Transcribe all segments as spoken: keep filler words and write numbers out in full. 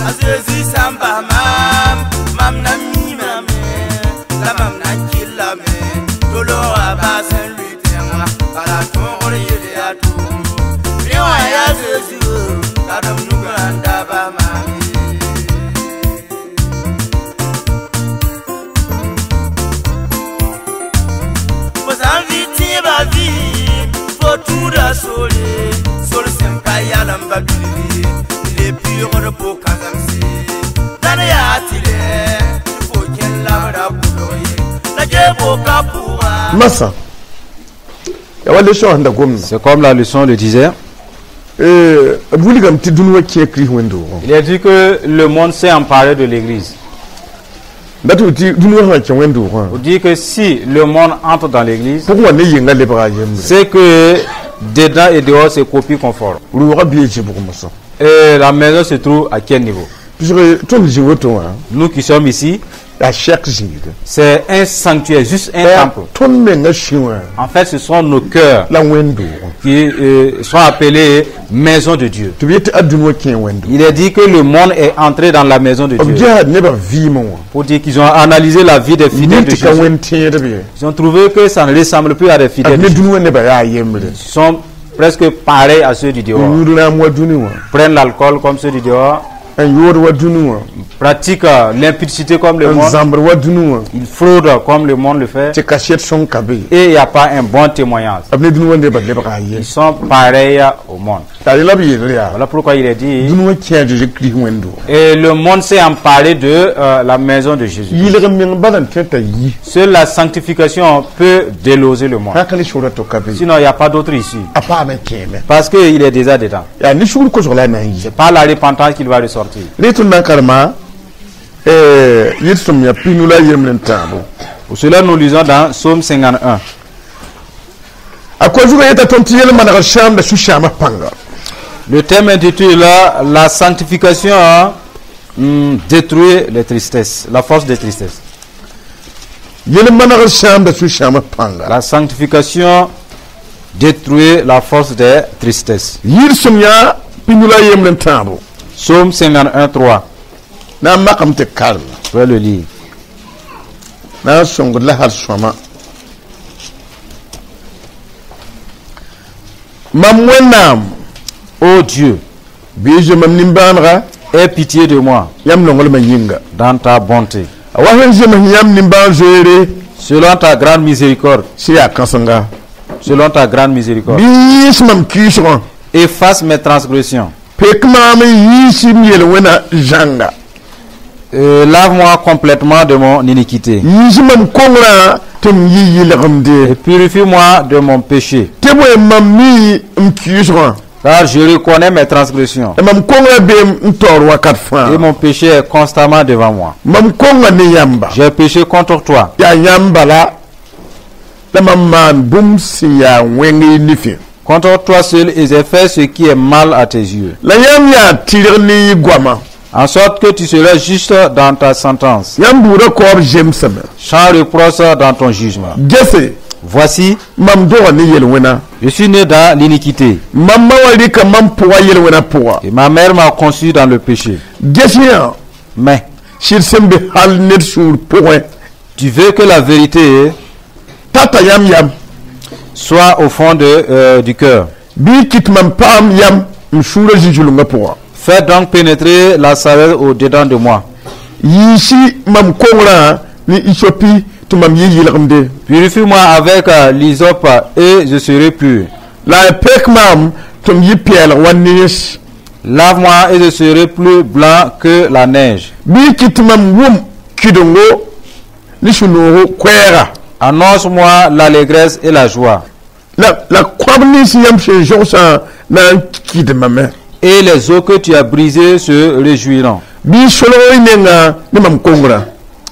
A Zezi sã n bas maam, mam na miimame la mam na n kɩllame tɩ loogã baas n lʋɩ tẽngã bala tõogr yel yaa toogo rẽ wã yaa Zezi karen nugã n da bas maam ye. Fo sã n vɩ tẽebã vɩɩm, fo tũuda sore, sor sẽn ka yalem ba bilf ye, n le pɩʋgd pʋ-kãsemse. Dãn yaa tɩrɛ tɩ fo kẽn labra kʋlg ye, la gee-boka pʋga. Massa ya wa leçon sẽn da gomda. C'est comme la leçon le disait. B wilgame tɩ dũni wã kẽ Kirist wẽnd-doogẽ. Il a dit que le monde s'est emparé de l'église. Dat tɩ tɩ dũni wã sã kẽ wẽnd-doogã, On dit que si le monde entre dans l'église, pʋgẽ wã ne yenga lebga a yembre. C'est que dedans et dehors, c'est copie conforme. Rʋʋgã bee zɩbg mosã. Et la maison se trouve à quel niveau? Pʋsg tõnd zĩ woto wã, Nous qui sommes ici, yaa sɛk zĩiga. C'est un sanctuaire, juste un temple. Tõnd menga sũ wã En fait, ce sont nos cœurs la wẽnd-doogẽ. Qui euh, sont appelés maison de Dieu. Tɩ b yet tɩ a dũni wã kẽ wẽnd-doogẽ. Il est dit que le monde est entré dans la maison de B Dieu. ges nebã vɩɩmẽ wã. Pour dire qu'ils ont analysé la vie des fidèles de Ned tɩ ka Jésus. wẽnd tẽedb ye. Ils ont trouvé que ça ne ressemble plus à des fidèles B de ne Jésus. dũni wã nebã yaa yembre. Ils sont presque pareils à ceux du dehors. Yũud rãam wa dũni wã. Prennent l'alcool comme ceux du dehors, N yood wa dũni wã. Pratiquent euh, l'impudicité comme le N monde, zãmbr wa dũni wã. Ils fraudent comme le monde le fait, Tɩ kaset sõng ka be. Et il n'y a pas un bon témoignage. B ne dũni wã nebã lebga a yem. Ils sont pareils au monde. T'a rela b yell yaa Voilà pourquoi il est dit. dũni wã kẽ a Zeezi Kirist wẽnd-doogẽ. Et le monde s'est emparé de euh, la maison de Jésus. Yɩlg meng bala n tõe t'a yi. Seule la sanctification peut déloger le monde. Sã ka ne sʋgra to ka be. Sinon, il n'y a pas d'autre issue. A paame kẽeme. Parce qu'il est déjà dedans. Yaa ne sugr kosg la a na n yi. C'est par la repentance qu'il va ressortir. Ne tõnd na n karema yɩl sõm yaa pinu la yembre n tãabo. Pour cela, nous lisons dans Psaume cinquante et un. A koa zugã yeta tõnd tɩ yel-manegr sãamda sũ-sãamã pãnga. Le thème intitule La sanctification, hum, détruit les tristesses, la force des tristesses. Yel-manegr sãamda sũ-sãamã pãnga. La sanctification détruit la force des tristesses. Yɩl sõm yaa pinu la yembre n tãabo. Psaume cinquante et un, trois. Na n makame tɩ karem. Je vais le lire. Na n sõngd la hal sõama mam Wẽnnaam. Ô Dieu, bɩ zoe mam nimbãanega. Aie pitié de moi Yãmb nonglmã yĩnga. Dans ta bonté. A wa sẽn zems yãmb nimbãan-zoeere. Selon ta grande miséricorde, Sẽn yaa kãsenga. Selon ta grande miséricorde, Bɩ yiis mam kiisgã. Efface mes transgressions. Pek maam n yiis m yel-wẽna zãnga. Euh, Lave-moi complètement de mon iniquité Yiis mam kongrã tɩ m yɩ yɩlgemde. Et purifie-moi de mon péché. Tɩ bõe mam mi m kiisgã. Car je reconnais mes transgressions La mam kongrã bee n taoor wakat fãa. Et mon péché est constamment devant moi. Mam konga ne yãmba. J'ai péché contre toi. Yaa yãmb bala la mam maan bũmb sẽn yaa wẽng y nifẽ. Contre toi seul, et j'ai fait ce qui est mal à tes yeux. La yãmb yaa tɩrg ne y goamã. En sorte que tu seras juste dans ta sentence, Yãmb buudã kaoob zemsame. Sans reproche dans ton jugement. Gese. Voici, Mam doga ne yel-wẽna. Je suis né dans l'iniquité, Mam ma wa rɩka mam pʋga yel-wẽna pʋga. Et ma mère m'a conçu dans le péché. Ges yã. Mais Sɩd sẽn be hal ned sũur pʋgẽ. Tu veux que la vérité Tata yãmb yam. Soit au fond de, euh, du cœur. Bɩ y kɩt mam paam yam m sũurã zĩ-zulungã pʋga. Fais donc pénétrer la sagesse au-dedans de moi. Yiisi mam kongrã ne isopi tɩ mam yɩ yɩlgemde. Purifie-moi avec euh, l'hysope et je serai pur. La y pek maam tɩ m yɩ pɛɛlg wa nens. Lave-moi et je serai plus blanc que la neige. Bɩ y kɩt mam wʋm kɩdengo ne sũ-noogo koɛɛga. Annonce-moi l'allégresse et la joie. La la kõab nins yãmb sẽn zõgsã na n kɩdmame. Et les os que tu as brisés se réjouiront. Bɩ y solg y nenga ne mam kongrã.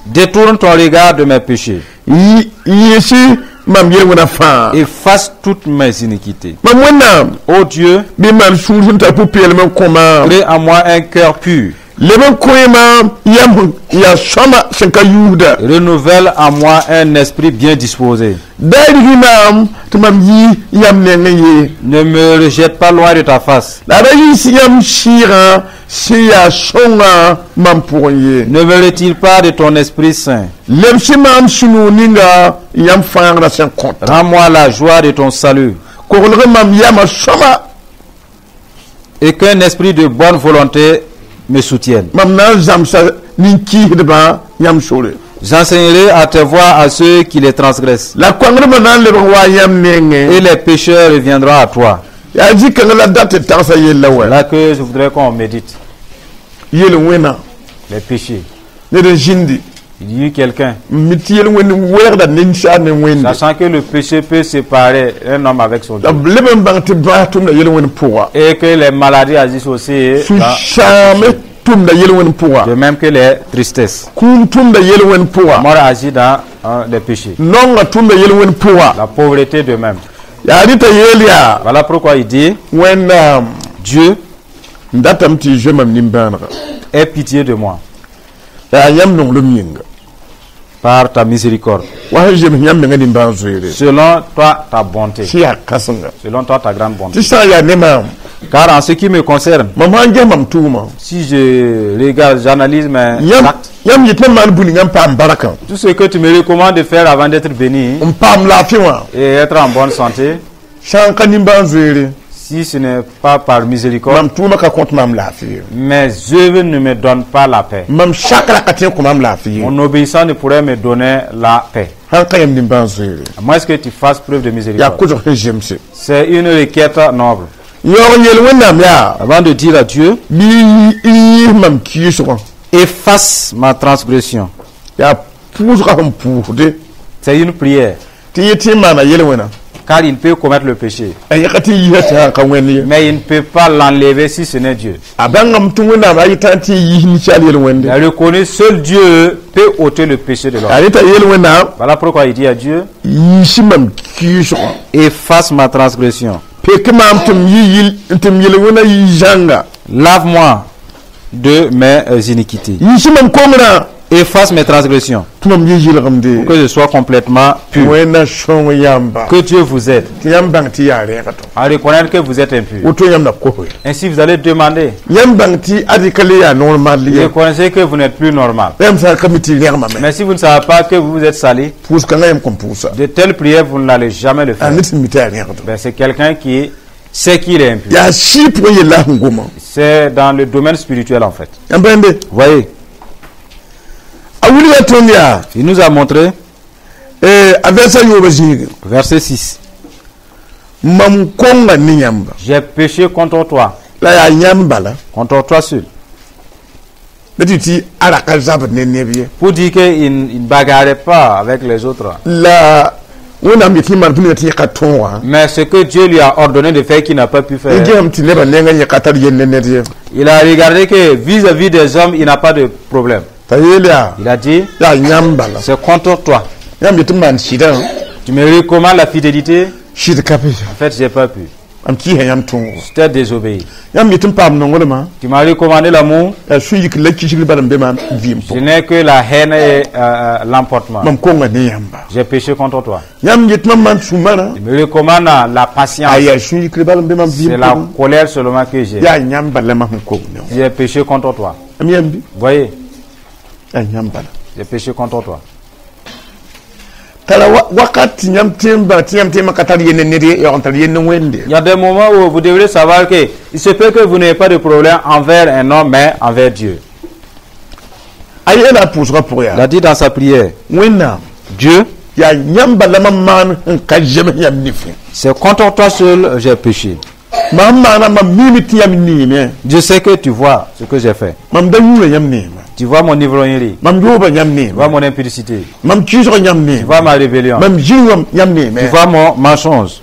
Détourne ton regard de mes péchés. Yɩ yẽesi mam yel-wẽna fãa. Efface toutes mes iniquités. Mam Wẽnnaam. Ô Dieu, Bɩ maan sũur sẽn tar pʋ-peelem n kõ maam. Crée en moi un cœur pur. Leb n kõ maam yam yaa sõama sẽn ka yuusda. Renouvelle en moi un esprit bien disposé. Da rigi maam tɩ mam yɩ yam nengẽ ye. Ne me rejette pas loin de ta face. La ra yiis yãmb sɩɩgã Sẽn yaa sõnga mam pʋgẽ ye. Ne me retire pas de ton Esprit Saint. Lebs maam sũ-noog ninga yãmb fãagrã sẽn kõt. Rends-moi la joie de ton salut Koglg mam yamã sõma. Et qu'un esprit de bonne volonté me soutienne. Mam na n zãmsa nin-kiisdbã yãmb sore. J'enseignerai à tes voies à ceux qui les transgressent. La koangrmã na n lebg wa yãmb nengẽ. Et les pécheurs reviendront à toi. Yaa zĩ-kãngã la dat tɩ tagsã yella wɛ. Là que je voudrais qu'on médite. Yel wẽna. Les péchés. Ned n zĩndi. Il y eut quelqu'un, n mi tɩ yel wẽnd wɛɛgda ninsaal ne wẽnde. Sachant que le péché peut séparer un homme avec son La Dieu. b leb n bãng tɩ bãas tʋmda yel wẽnd pʋga. Et que les maladies agissent aussi, dans- Sũ-sãame tʋmda yel wẽnd pʋga. de même que les tristesses. Kũum tʋmda yel wẽnd pʋga. Mort agit dans hein, les péchés. Naongã tʋmda yel wẽnd pʋga. La pauvreté de même. Yaa rɩta yeel yaa. Voilà pourquoi il dit, Wẽnnaam, Dieu, n datame tɩ y zoe mam nimbãanega. Aie pitié de moi La yaa yãmb nonglem yĩnga. Par ta miséricorde. Wa sẽn zems yãmb menga nimbãan-zoeere. Selon toi, ta bonté. Sẽn yaa kãsenga. Selon toi, ta grande bonté. Tɩ sã n yaa ne maam, Car en ce qui me concerne, mam sã n ges mam tʋʋmã, si je regarde, j'analyse mes yãmb actes, yãmb yetɩ mam maan bũ ninga n paam barakã, tout ce que tu me recommandes de faire avant d'être béni n paam laafɩ wã, et être en bonne santé, sã n ka nimbãan-zoeere, si ce n'est pas par miséricorde, mam tʋʋmã ka kõt maam laafɩ ye. Mes œuvres ne me donnent pas la paix. Mam sakrã ka tõe n kõ maam laafɩ ye. Mon obéissance ne pourrait me donner la paix. Sãn ka yãmb nimbãan-zoeere. À moins que tu fasses preuve de Yaa miséricorde. kosg sẽn zemse. C'est une requête noble. Yaoog n yeel Wẽnnaam yaa, Avant de dire à Dieu, bɩ y yiis mam kiisgã. Efface ma transgression. Yaa pʋʋsgã sẽn pʋʋsde. C'est une prière. Tɩ yẽ tɩ n maana yel-wẽna. Car il peut commettre le péché. A yẽka tɩ yiisa tɩ sã n ka wẽnd ye. Mais il ne peut pas l'enlever si ce n'est Dieu. A bãngame tɩ Wẽnnaam a yetã tɩ y yiis ninsaal yel-wẽnde. Il a reconnu, seul Dieu peut ôter le péché de l'homme. A reta yeel Wẽnnaam, Voilà pourquoi il dit à Dieu, yiisi mam kiisgã. Efface ma transgression. Pek maam tɩ m yi yil tɩ m yel-wẽna yi zãnga. Lave-moi de mes euh, iniquités. Yiisi mam kongrã. Efface mes transgressions. Tɩ mam yi yɩlgemde. Que je sois complètement pur. Wẽnna sõng yãmba. Que Dieu vous aide Tɩ yãmb bãng tɩ yaa rẽega tõ. À reconnaître que vous êtes impur. Woto yãmb na kose. Ainsi, vous allez demander. Yãmb bãng tɩ adi ka le yaa normal Vous ye. reconnaissez que vous n'êtes plus normal. Yãmb sã n ka mi tɩ rẽgmame. Mais si vous ne savez pas que vous êtes sali, Pʋʋs-kãngã yãmb kõn pʋʋsa. De telles prières, vous n'allez jamais le A faire. ned sẽn mi tɩ yaa rẽegd. Ben, c'est quelqu'un qui sait qu'il est impur. Yaa sɩɩ pʋgẽ yella sẽn goma. C'est dans le domaine spirituel en fait. Yãmb bãmbe. Vous voyez, A wilga tõnd yaa, il nous a montré, a vɛrsa yoobã zĩigi. Verset six. Mam konga ne yãmba. J'ai péché contre toi, La yaa yãmb bala. Contre toi seul. La tɩ tɩ a ra ka zabd ne neb ye. Pour dire qu'il ne bagarrait pas avec les autres. La Wẽnnaam yetɩ maan bũmb tɩ yẽ ka tõog wã. Mais ce que Dieu lui a ordonné de faire qu'il n'a pas pu faire, N gesame tɩ nebã nengã yẽ ka tar yell ne ned ye. Il a regardé que vis-à-vis des hommes, il n'a pas de problème. T'a yeel yaa, Il a dit, yaa yãmb bala. C'est contre toi. Yãmb yetɩ m maan sɩdã. Tu me recommandes la fidélité. Sɩd ka be. En fait, j'ai pas pu. Mam kɩɩsa yãmb tõogo. Je t'ai désobéi. Yãmb yetɩ m paam nonglmã. Tu m'as recommandé l'amour. Yaa sũ-yik la kisgr bala n be maam vɩɩm Je pʋgẽ. n'ai que la haine et euh, euh, l'emportement. Mam konga ne yãmba. J'ai péché contre toi. Yãmb yetɩ mam maan sũ-marã. Tu me recommandes la patience. A yaa sũ-yikr bala n be mam C'est vɩɩm la pʋgẽ. Colère seulement que j'ai. Yaa yãmb bala mam sẽn kong ne wã. J'ai péché contre toi. Am yãmb Vous voyez, yaa yãmb bala. J'ai péché contre toi. Tara wakat tɩ yãmb tẽ n bãng tɩ yãmb tẽemã ka tar yell ne ned ye yaoog n tar yell ne Wẽnde. Il y a des moments où vous devrez savoir que il se peut que vous n'ayez pas de problème envers un homme, mais envers Dieu. A yeela a pʋʋsgã pʋgẽ Il yaa, a dit dans sa prière, Wẽnnaam, Dieu, yaa yãmb bala mam maan n ka zems yãmb nifẽ. C'est contre toi seul j'ai péché. Mam maana mam miime tɩ yãmb neeme. Je sais que tu vois ce que j'ai fait. Mam da yũura yãmb neema. Tu vois mon ivrognerie, Mam yooba yãmb tu neema. Vois mon impudicité, Mam kiisg yãmb tu neema. Vois ma rébellion, Mam zĩig yãmb neeme. Tu vois mon mensonge.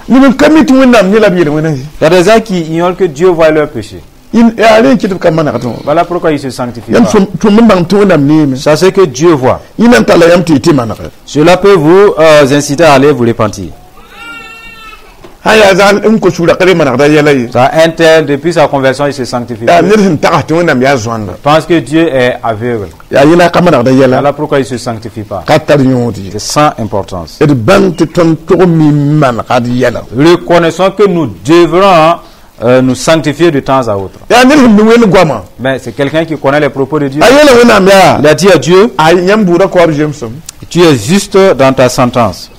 Neb n ka mi tɩ Wẽnnaam yẽ la b yel-wẽna ye. Il y a des gens qui ignorent que Dieu voit leur péché. Yaa rẽ n kɩt b ka manegdẽ wã. Voilà pourquoi ils se sanctifient Yãmb pas. tõnd n bãng tɩ Wẽnnaam neeme. Sachez que Dieu voit. Yẽ na n talla yãmb tɩ y tɩ manege. Cela peut vous euh, inciter à aller vous repentir. Sã n yaa zag n kos sũurã ka le manegda yɛla ye. Ça, un tel, depuis sa conversion, il se sanctifie Yaa plus. ned sẽn tags tɩ Wẽnnaam yaa zoanda. Pense que Dieu est aveugle. Yaa yẽla ka manegda yɛla. Voilà pourquoi il ne se sanctifie pas. Ka tar yõod ye. C'est sans importance. D bãng tɩ tõnd tog mi n manega d yɛla. Reconnaissons que nous devrons euh, nous sanctifier de temps à autre. Yaa ned sẽn mi wẽnd goamã. Mais c'est quelqu'un qui connaît les propos de Dieu. A yeela Wẽnnaam yaa Il a dit à Dieu, a yãmb buudã kaoob zemsem. Tu es juste dans ta sentence.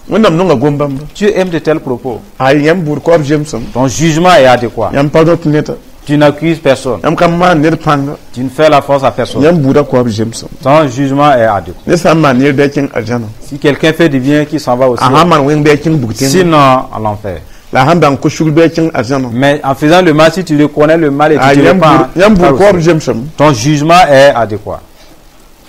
Wẽnnaam nonga gom-bãmba. Dieu aime de tels propos. A yãmb buud kaoob zemsem. Ton jugement est adéquat. Yãmb pa rõt neda. Tu n'accuses personne. Yãmb ka maan ned pãnga. Tu ne fais la force à personne. Yãmb buudã kaoob zemsem. Ton jugement est adéquat. Ned sã n maan ned bɩ a kẽng arzãna. Si quelqu'un fait du bien, qu'il s'en va aussi. A sã n maan wẽng bɩ a kẽng bug tẽngã. Sinon, à l'enfer. La a sãn bãng ko-sugr bɩ a kẽng arzãna. Mais en faisant le mal, si tu reconnais le mal et A tu te yãmb repens, buud yãmb buud par kaoob aussi. zemsem. Ton jugement est adéquat.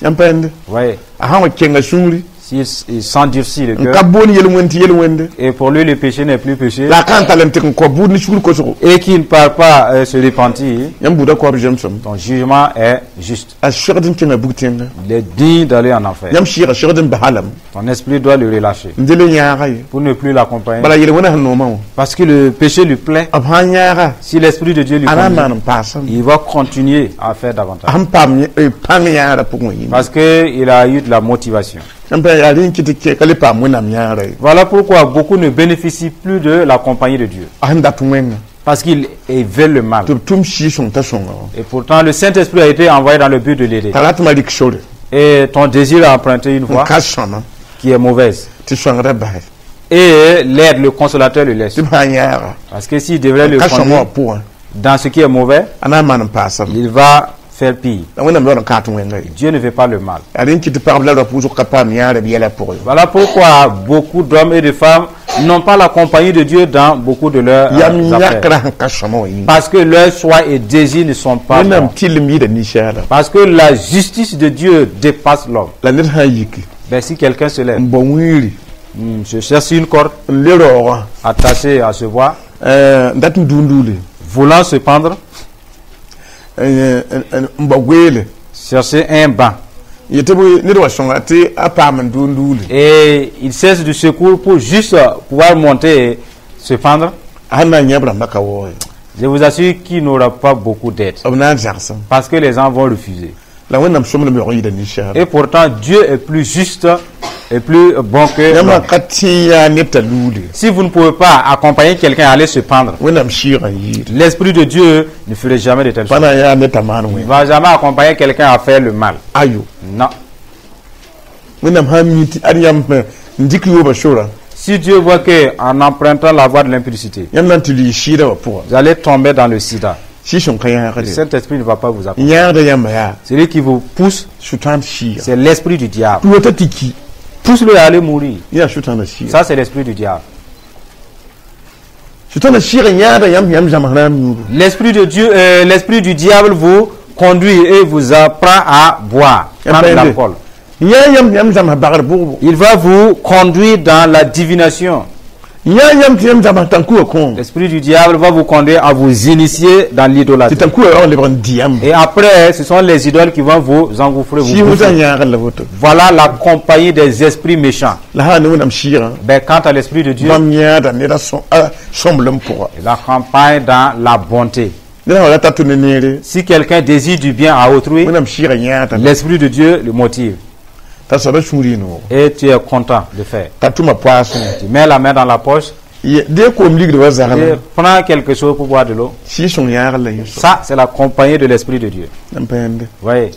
Yãmb pa yẽnde. Voyez, A sã n wa kenga sũuri s'il il s'endurcit le n cœur, ka boon yel-wẽnd tɩ yel-wẽnde et pour lui le péché n'est plus péché, la a ka n tall n tɩk n kao buud ne sugr kosgo. Et qu'il ne part pas euh, se repentir, Yãmb buudã kaoob zemsem. Ton jugement est juste. A segd n kẽnga bug tẽnga. Il est digne d'aller en enfer. Yãmb sɩɩga segd n basa lame. Ton esprit doit le relâcher N dele yãaga ye. Pour ne plus l'accompagner. Bala yel-wẽnã sẽn noomã wã. Parce que le péché lui plaît. B sã n yãaga Si l'esprit de Dieu lui a na n conduit, maan n paasame. Il va continuer à faire davantage. A sẽn paam yẽ- eh, pãng yãagrã pʋgẽ yĩnga. Parce qu'il a eu de la motivation. Yãmb pa yaa rẽ n kɩt tɩ kẽ ka le paam Wẽnnaam yãagrã ye. Voilà pourquoi beaucoup ne bénéficient plus de la compagnie de Dieu. A sẽn dat wẽnga. Parce qu'ils ils veulent le mal. Tɩ b tʋm sɩɩg-sõng t'a sõnga wã. Et pourtant, le Saint-Esprit a été envoyé dans le but de l'aider. T'a ratmã rɩk sore. Et ton désir a emprunté une N voie ka sõma qui est mauvaise. Tɩ sõngrã basɛ. Et l'aide, le consolateur le laisse. Tɩ b sã n yãaga Parce que s'il devrait le ka sõma wã conduire pʋgẽ dans ce qui est mauvais, a na n maan n paasame. Il va faire pire. La Wẽnnaam yaool n kaat wẽnga ye. Dieu ne veut pas le mal. Yaa rẽ n kɩt tɩ pagb la raop wʋsg ka paam yãagrã b yɛla pʋgẽ. Voilà pourquoi beaucoup d'hommes et de femmes n'ont pas la compagnie de Dieu dans beaucoup de leurs euh, Yam affaires. yãkrã sẽn ka sõma wã yĩnga. Parce que leurs choix et désirs ne sont pas Wẽnnaam bons. tɩlem yɩɩda ninsaala. Parce que la justice de Dieu dépasse l'homme. La ned sã n yiki Ben, si quelqu'un se lève, n bao wĩiri hmm, se cherche une corde n le raoogã attachée à ce bois, n dat n duunduule voulant se pendre, n bao goeele chercher un banc. Yetɩ bɩ ned wa sõnga tɩ a paam n duunduule. Et il cherche du secours pour juste pouvoir monter et se pendre. A sẽn na n yã b rãmbã ka waoog ye. Je vous assure qu'il n'aura pas beaucoup d'aide. B na n zagsem. Parce que les gens vont refuser. La Wẽnnaam sõmblem yaoog n yɩɩda ninsaala. Et pourtant, Dieu est plus juste et plus bon que Yãmb l'homme. Ka tẽ yaa ned t'a luude. Si vous ne pouvez pas accompagner quelqu'un à aller se pendre, Wẽnnaam sɩɩgã yɩɩda. L'Esprit de Dieu ne ferait jamais de telles Pa choses. Na n yaa ned t'a maan Il ne wẽnga. va jamais accompagner quelqu'un à faire le mal. Ayo. Non. Wẽnnaam sã n mi tɩ ad yãmb n dɩk yoobã sora. Si Dieu voit que en empruntant la voie de l'impudicité, Yãmb na n tɩ lʋɩ sɩɩdã wã pʋga. Vous allez tomber dans le sida, Sɩɩg-sõng ka le yãagde. Saint-Esprit ne va pas vous accompagner. N yãagda yãmba yaa. Celui qui vous pousse, Sʋtãan sɩɩga. C'est l'esprit du diable. Tɩ wota tɩ ki. Pousse-le à aller mourir. Yaa sʋtãanã sɩɩga. Ça, c'est l'esprit du diable. Sʋtãanã sɩɩg n yãagda yãmb yãmb zãms rãam yũudu. L'esprit de Dieu, euh, l'esprit du diable vous conduit et vous apprend à boire, prendre Épinglé. l'alcool. N yãa yãmb yãmb zãms bagr bʋgbo. Il va vous conduire dans la divination. N yãa yãmb tɩ yãmb zãms tãnkuga kõom. L'esprit du diable va vous conduire à vous initier dans Tɩ l'idolâtrie. Tãnkuga yaoog n lebg n dɩ yãmb. Et après, ce sont les idoles qui vont vous engouffrer. Vous Sɩɩg wʋsã bouffer. Yãagr la woto. Voilà la compagnie des esprits méchants. La sã ne Wẽnnaam sɩɩgã. Ben, quant à l'esprit de Dieu, Bãmb yãada ned a sõmblem pʋga. Il accompagne dans la bonté. Ned sã wa rata tʋ ne neere. Si quelqu'un désire du bien à autrui, Wẽnnaam sɩɩgã yãada l'esprit de Dieu le motive. T'a soaba sũur yɩ noogo. Et tu es content de faire. T'a tʋma poaasẽ. Tu mets la main dans la poche Dee koom ligd wa et zagla. Prends quelque chose pour boire de l'eau. Sɩɩg-sõng yãagr la yẽ soab. Ça, c'est la compagnie de l'esprit de Dieu. N pa yẽnde. Voyez.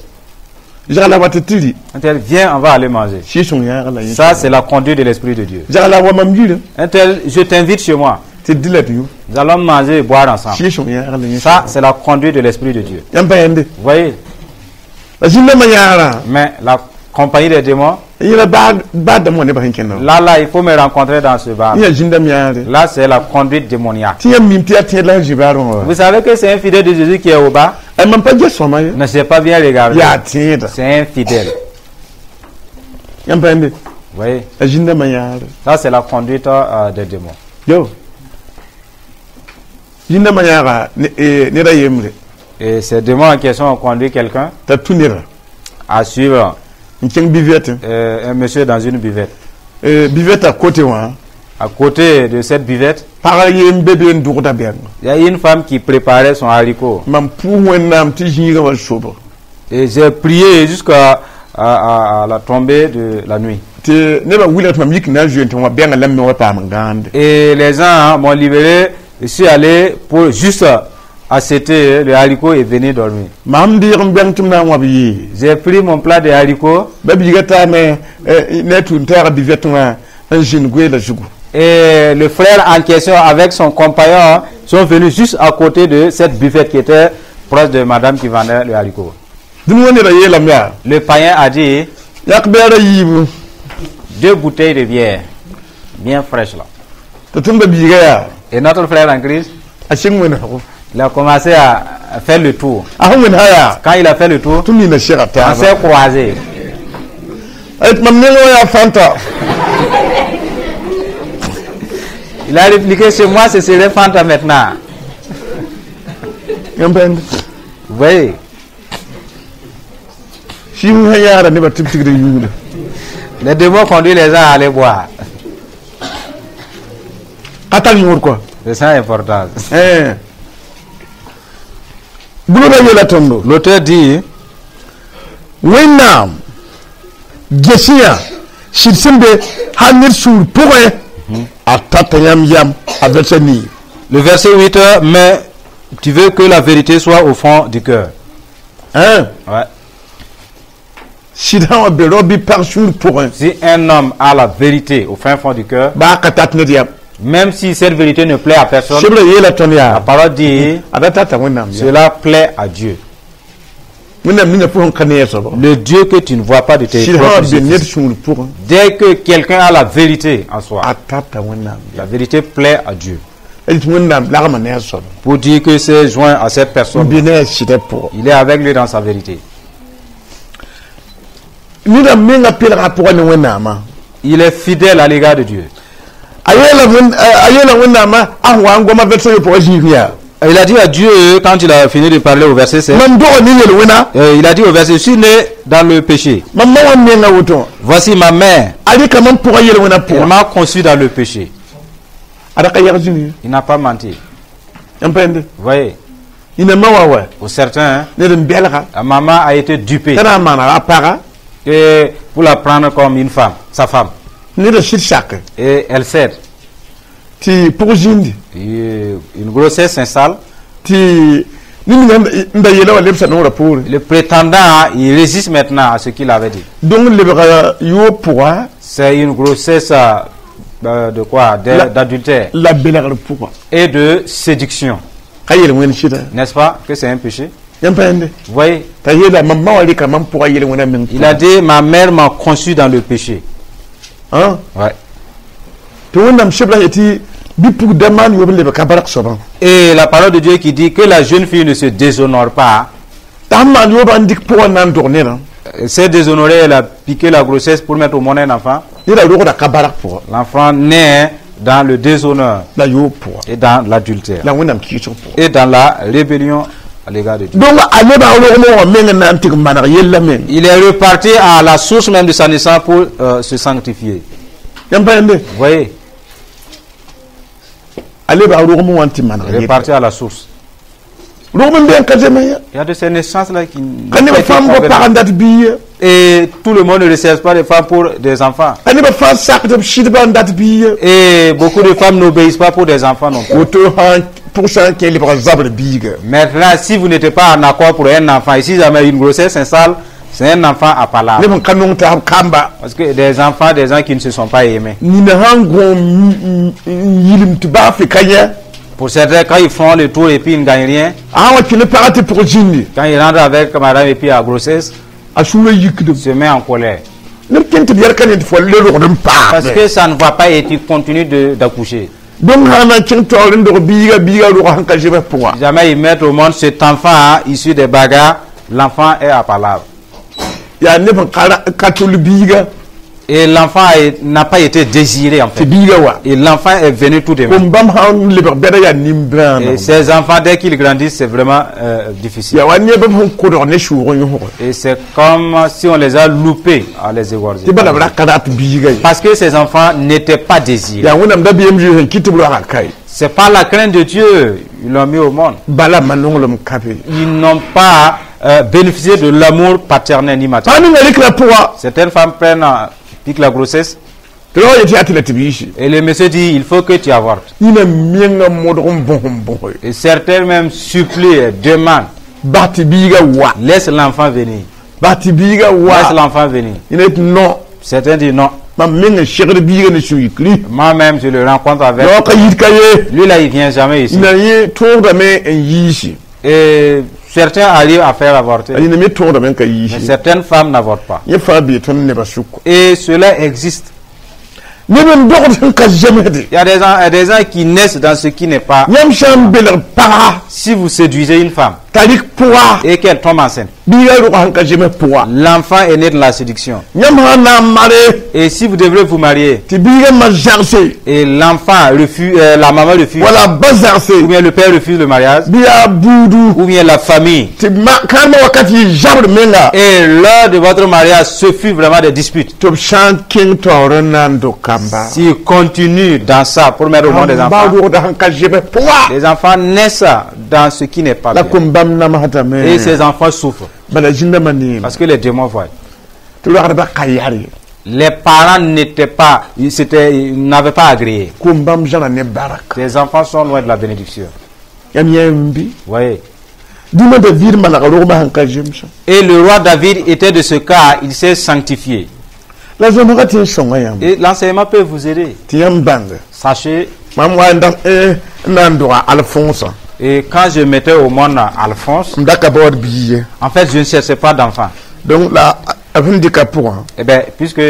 Zagla wa tɩ tɩ rɩ. Un tel, viens, on va aller manger. Sɩɩg-sõng yãagr la yẽ. Ça, c'est la conduite de l'esprit de Dieu. Zagla wa mam yirã. Un tel, je t'invite chez moi. Tɩ dɩ la tɩ yũ. Nous allons manger et boire ensemble. Sɩɩg-sõng yãagr la yẽ. Ça, c'est la conduite de l'esprit de Dieu. Yãmb pa yẽnde. Voyez. La zĩndãmbã yãagrã. Mais la compagnie des démons, Yẽla baa dãmb wã nebã sẽn kẽnda. Là, là, il faut me rencontrer dans ce bar. Yã zĩndãmb yãagre. Là, c'est la conduite démoniaque. Tɩ yãmb mim tɩ yaa tẽed la sẽn zĩ baarẽ wã. Vous savez que c'est un fidèle de Jésus qui est au bas. Mam pa ges sõma ye. Ne s'est pas bien regardé. Yaa tẽeda. C'est un fidèle. Yãmb pa yẽnde. Voyez. La zĩndãmbã yãagre. Ça, c'est la conduite euh, des démons. Yo zĩndãmbã yãaga ned a yembre. Et ces démons en question ont conduit quelqu'un T'a tũ neda. À suivre N kẽng buvette. euh, un monsieur dans une buvette. Buvette a côté wã. À côté de cette buvette, Pag yem be be n dʋgda bɛng. Il y a une femme qui préparait son haricot. Mam pʋʋs Wẽnnaam tɩ zĩigã wa sobg. Et j'ai prié jusqu'à à, à- à la tombée de la nuit. Tɩ nebã wilg tɩ mam yik na n zoe tɩ wã bɛngã la m me wa paam n gãande. Et les gens, hein, m'ont libéré Je suis allé pour juste acheter le haricot et venir dormir. Mam dɩɩg n bɛng tɩ m na n wãb yee. J'ai pris mon plat de haricots. Ba biiga taame ne a tũud taagã buvette wã n zĩnd goeela zugu. Et le frère en question avec son compagnon sont venus juste à côté de cette buvette qui était proche de madame qui vendait le haricot. Dũni wã neda yeelame yaa. Le païen a dit yãk bɛɛra yiibu. Deux bouteilles de bière bien fraîches là. Tɩ tõnd ba biiga yaa. Et notre frère en Christ, a sɩng wẽnesgo. Il a commencé à faire le tour. A sẽn wẽnesa yaa. Quand il a fait le tour, tɩ nina sega on taaba. S'est croisés. Mam neng wã yaa Fanta. Il a répliqué: chez moi, ce serait Fanta maintenant. Yãmb pẽnd. Vous voyez, sɩɩg sã yaada nebã tɩ b tigd yũuda. Les démons conduisent les gens à aller boire. Ka tar yõod kɔa. C'est ça l'importance. Gʋlga yeela tõndo. L'auteur dit, Wẽnnaam gesẽ sɩd sẽn be hal ned sũur pʋgẽ a tata yãmb yam a vɛrsa nii. Le verset huit, mais tu veux que la vérité soit au fond du cœur. Hein? Ouais. Sɩd sã wã be rao bɩ pag sũur pʋgẽ. Si un homme a la vérité au fin fond du cœur, baa ka tat ned yam. Même si cette vérité ne plaît à personne, Sebrã yeela tõnd la yaa. Parole dit, a da tata Wẽnnaam yam. Cela plaît à Dieu. Wẽnnaam ninga pʋgẽ ka ne a soaba. Le Dieu que tu ne vois pas de tes Sɩd sã wã propres be ned yeux. sũur pʋgẽ. Dès que quelqu'un a la vérité en soi, a tata Wẽnnaam yam. La vérité plaît à Dieu. A tɩ Wẽnnaam lagma ne a soaba. Pour dire que c'est joint à cette N personne, be ne a sɩdã pʋgẽ. Il est avec lui dans sa vérité. Neda menga pelga a pʋgã ne Wẽnnaamã. Il est fidèle à l'égard de Dieu. A yeela Wẽn- a yeela Wẽnnaamã a sẽn wa n goma vɛrsa yopoagã zĩig yaa. Il a dit à Dieu, quand il a fini de parler au verset sept, Mam doga ne yel-wẽna. euh, il a dit au verset, je suis né dans le péché. Mam ma wã menga woto wã. Voici ma mère, A rɩka mam pʋgã yel-wẽna elle pʋgã. M'a conçu dans le péché. A da ka yɛg zĩni. Il n'a pas menti. Yãmb pẽnde. Vous voyez, Yĩna ma wã wa. Pour certains, hein, Ned n belga. La maman a été dupée T'a na n maana a paga. Et pour la prendre comme une femme, sa femme. Neda sɩd sak. Et elle cède. Tɩ pʋg zĩndi. Et une grossesse s'installe. Tɩ ned ninga n da yeela wã lebsa noorã poore. Le prétendant, il résiste maintenant à ce qu'il avait dit. Donc lebga yoob pʋga. C'est une grossesse euh, de quoi? La- D'adultère La belgr pʋga. Et de séduction. Ka yel-wẽnd sɩda. N'est-ce pas que c'est un péché? Yãmb pẽnde. Vous voyez, T'a yeela mam ma wã rɩka mam pʋgã yel-wẽna meng. Il a dit, ma mère m'a conçu dans le péché. Hein? Ouais. Tɩ Wẽnnaam sebra yetɩ bɩ pugda maan yoob n lebg ka bark soabã. Et la parole de Dieu qui dit que la jeune fille ne se déshonore pas, T'a sẽn maan yoobã n dɩk pʋgã n na n dog nedã. Euh, s'est déshonorée, elle a piqué la grossesse pour mettre au monde un enfant. Neda rogda ka bark pʋga. L'enfant naît dans le déshonneur La yoob pʋga. Et dans l'adultère La Wẽnnaam kɩɩsg pʋga. Et dans la rébellion à l'égard de Dieu. Donc a lebga rogmẽ wã meng n na n tɩg maneg yellã meng. Il est reparti à la source même de sa naissance pour euh, se sanctifier. Yãmb pẽnde. Vous voyez, A lebga rogmẽ wã n tɩ maneg il est yella. reparti à la source. Rogm n be n ka zeme ya. Il y a de ces naissances-là qui n'ont Ka pas nebã été fãa n bao pag n convenables. dat bii ye. Et tout le monde ne recherche pas des femmes pour des enfants. Ka nebã fãa sakd b sɩdbã n dat bii ye. Et beaucoup de femmes n'obéissent pas pour des enfants non plus. Woto sã pʋg sã n kẽ lebga zabr biiga. Maintenant, si vous n'êtes pas en accord pour un enfant, et si jamais une grossesse s'installe, c'est un enfant à palabre. Neb n ka nong taab kamba. Parce que des enfants, des gens qui ne se sont pas aimés. Nina sãn gõom n yilem tɩ baa fɩ ka yẽ. Pour certains, quand ils font le tour et puis ils ne gagnent rien, A sã wa kẽ ne pagã tɩ pʋg zĩndi. Quand ils rentrent avec madame et puis à grossesse, A sũurã yikdem. Se met en colère. Neb kẽn tɩ b yɛl ka ne tɩ fo le rogd n Parce paame. Que ça ne va pas et tu continues de- d'accoucher. Donc sã na n kẽng taoor n dog biiga biiga rogã sẽn ka zebs pʋgã. Si jamais ils mettent au monde cet enfant, hein, issu des bagarres, l'enfant est à palabre. Yaa neb n ka ra- ka tʋl biiga. Et l'enfant a- n'a pas été désiré en Tɩ fait. biiga wa. Et l'enfant est venu tout de même. Kom bãmb sã n lebg bɛda yaa nin-bãana. Et ces enfants, dès qu'ils grandissent, c'est vraiment euh, difficile. Yaa wa nebã sẽn kodg ne sʋʋg n yõsg. Et c'est comme si on les a loupés à les égorger. Tɩ bala b ra ka rat biiga ye. Parce que ces enfants n'étaient pas désirés. Yaa Wẽnnaam dabeem zoe sẽn kɩt tɩ b roagã kae. C'est pas la crainte de Dieu, ils l'ont mis au monde. Bala ma-nonglem ka be. Ils n'ont pas euh, bénéficié de l'amour paternel ni maternel. Pag ninga rɩkra pʋga. Certaines femmes prennent, euh, piquent la grossesse. Tɩ rao yetɩ yaa tɩ la tɩ b yiisi. Et le monsieur dit, il faut que tu avortes. Yĩna menga modg n bõs n bõse. Et certains même supplient et demandent, Bas tɩ biiga wa. Laisse l'enfant venir. Bas tɩ biiga Laisse wa. L'enfant venir. Yẽna yetɩ non. Certains disent non. Mam meng n segd biiga ne sũ-yikri. Moi-même, je le rencontre avec. Rao ka yit ka ye. Lui là, il vient jamais ici. Yĩna yẽ tõogdame n yiisi. Et certains arrivent à faire avorter. A yĩna me tõogdame n ka Mais yiisi. Certaines femmes n'avortent pas. Yẽ fãa bee tõnd nebã sʋk. Et cela existe. Neb n dogd sẽn ka zemsde. Il y a des gens, il y a des gens qui naissent dans ce qui n'est pas. Yãmb sã n belg paga Si vous séduisez une femme t'a rɩk pʋga et qu'elle tombe enceinte, biiga rʋga sẽn ka zems pʋga. L'enfant est né de la séduction. Yãmb sã n na n mare Et si vous devrez vous marier tɩ biiga ma zagse et l'enfant refuse, euh, la maman refuse, wala ba zagse ou bien le père refuse le mariage, bɩ yaa buudu ou bien la famille, tɩ kãadmã wakat yɩ zabr menga et lors de votre mariage, ce fut vraiment des disputes. Tɩ b sã n kẽng taoor n na n dog kamba. S'il continue dans ça pour mettre au monde des ba enfants, rogda sẽn ka zems pʋga. Les enfants naissent dans ce qui n'est pas La bien. Kom-bãmb namsdame. Et ces enfants souffrent bala zĩndãmbã neeme. Parce que les démons voient. Tɩ roagdbã ka yar ye. Les parents n'étaient pas, ils, s'étaient- ils n'avaient pas agréé. Kom-bãmb zãra ne baraka. Ces enfants sont loin de la bénédiction. Yãmb yã n bɩ Vous voyez. Dĩmã David manega rogmã sẽn ka zemsã. Et le roi David était de ce cas, il s'est sanctifié. La zãmsgã tɩ n sõnga yãmb. Et l'enseignement peut vous aider. Tɩ yãmb bãnga. Sachez, Mam wa n da n na n doga Alphonse. Et quand je mettais au monde Alphonse, M da ka baood bii ye. En fait, je ne cherchais pas d'enfant. Donc la b sẽn dɩka pʋgã. Eh bien, puisque